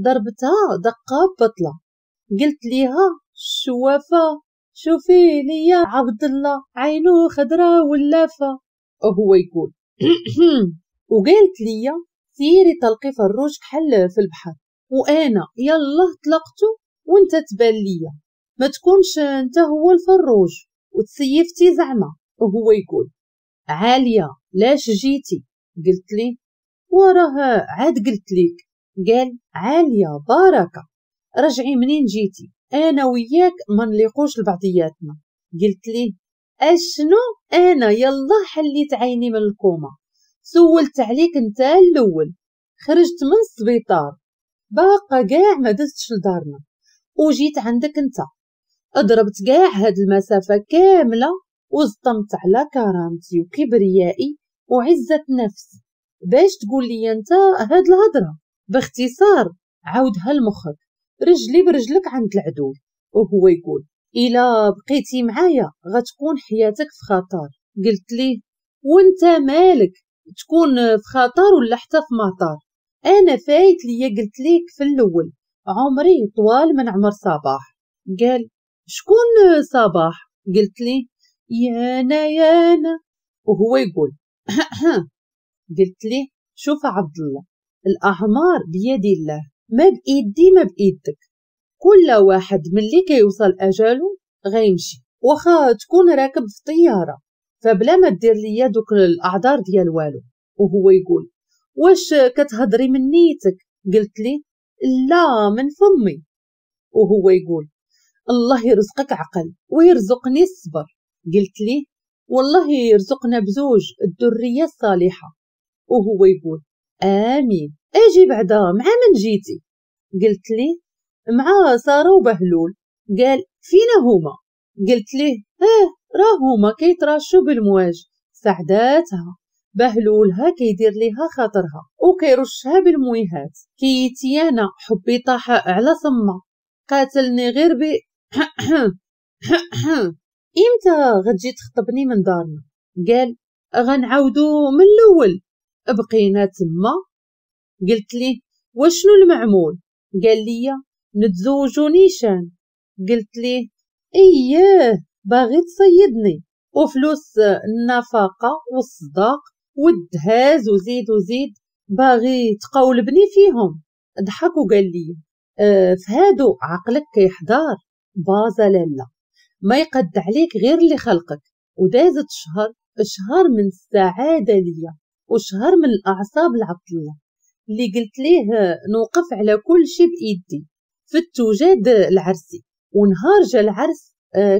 ضربتها دقة بطلة. قلت ليها الشوافة شوفي ليا عبد الله عينو خضرا ولافة. وهو يقول وقالت لي سيري تلقي فروج كحل في البحر، وانا يلا طلقته وانت تبان ليا ما تكونش انت هو الفروج وتسيفتي زعما. وهو يقول عالية لاش جيتي؟ قلت لي وراه عاد قلت ليك. قال عالية بركة رجعي منين جيتي، انا وياك ما نليقوش لبعضياتنا. قلت ليه اشنو؟ انا يلا حليت عيني من الكوما، سولت عليك انت الاول، خرجت من السبيطار باقا كاع ما دزتش لدارنا وجيت عندك انت، اضربت كاع هاد المسافة كاملة وزطمت على كرامتي وكبريائي وعزه نفسي باش تقول لي انت هاد الهضرة. باختصار عاودها لمخك، رجلي برجلك عند العدول. وهو يقول إلا بقيتي معايا غتكون حياتك في خطر. قلت ليه وانت مالك تكون في خطر ولا حتى في مطار؟ انا فايت ليا قلت ليك في الاول عمري طوال من عمر صباح. قال شكون صباح؟ قلت ليه يانا يانا. وهو يقول قلت ليه شوف عبد الله الاعمار بيد الله، ما بايدي ما بايدك، كل واحد ملي كيوصل اجالو غيمشي، واخا تكون راكب في طيارة، فبلا ما دير ليا دوك الاعذار ديال والو. وهو يقول واش كتهضري من نيتك؟ قلت لي لا من فمي. وهو يقول الله يرزقك عقل ويرزقني الصبر. قلت لي والله يرزقنا بزوج الذرية الصالحة. وهو يقول امين. اجي بعدا مع من جيتي؟ قلت لي مع ساره وبهلول. قال فينا هما؟ قلت ليه اه راه هما كيتراشوا بالمواج، سعداتها بهلولها كيدير ليها خاطرها وكيرشها بالمويهات، كيتيانا حبي طاح على صمه قاتلني غير ب امتى غتجي تخطبني من دارنا؟ قال غنعاودو من الاول. بقينا تما. قلت ليه وشنو المعمول؟ قال لي نتزوجو نيشان. قلت ليه اياه باغي تصيدني، وفلوس النفقة والصداق والدهاز وزيد وزيد باغي تقولبني فيهم. ضحك وقال لي فهادو عقلك كيحضر بازا لالا ما يقد عليك غير اللي خلقك. ودازت شهر من السعادة ليا وشهر من الاعصاب لعبد الله اللي قلت ليه نوقف على كل شيء بايدي في التوجاد العرسي. ونهار جا العرس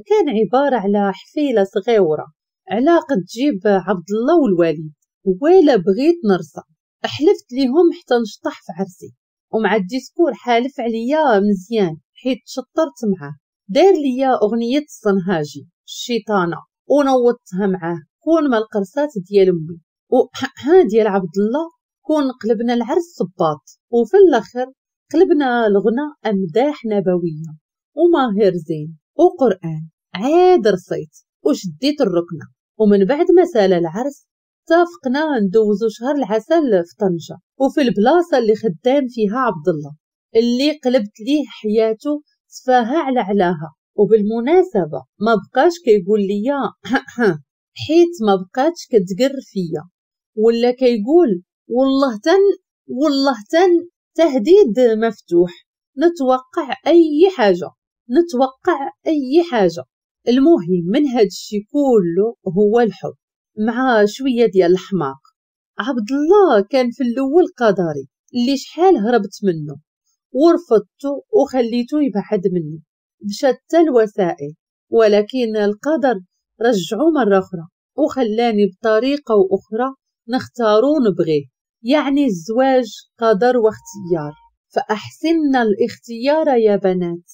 كان عبارة على حفيله صغيرة على قد جيب عبد الله والوالد، ولا بغيت نرصى حلفت ليهم حتى نشطح في عرسي. ومع ال discours حالف عليا مزيان حيت شطرت معاه، دار ليا اغنية الصنهاجي الشيطانه ونوضتها معاه كون ما القرصات ديال امي وها ديال عبد الله كون قلبنا العرس صباط. وفي الاخر قلبنا الغنى امداح نبوية وماهر زين وقران. عاد رصيت وشديت الركنه. ومن بعد ما سال العرس اتفقنا ندوزو شهر العسل في طنجه وفي البلاصة اللي خدام فيها عبد الله. اللي قلبت ليه حياته تفاها على علاها. وبالمناسبة ما بقاش كيقول ليا حيت ما بقاتش كتقر فيا، ولا كيقول والله تن والله تن، تهديد مفتوح، نتوقع اي حاجة نتوقع اي حاجة. المهم من هاد الشي كله هو الحب مع شوية ديال الحماق. عبد الله كان في الاول قدري اللي شحال هربت منه ورفضته وخليته يبعد مني بشتى الوسائل، ولكن القدر رجعو مرة أخرى وخلاني بطريقة أخرى نختارو ونبغيه. يعني الزواج قدر واختيار، فأحسن الاختيار يا بنات.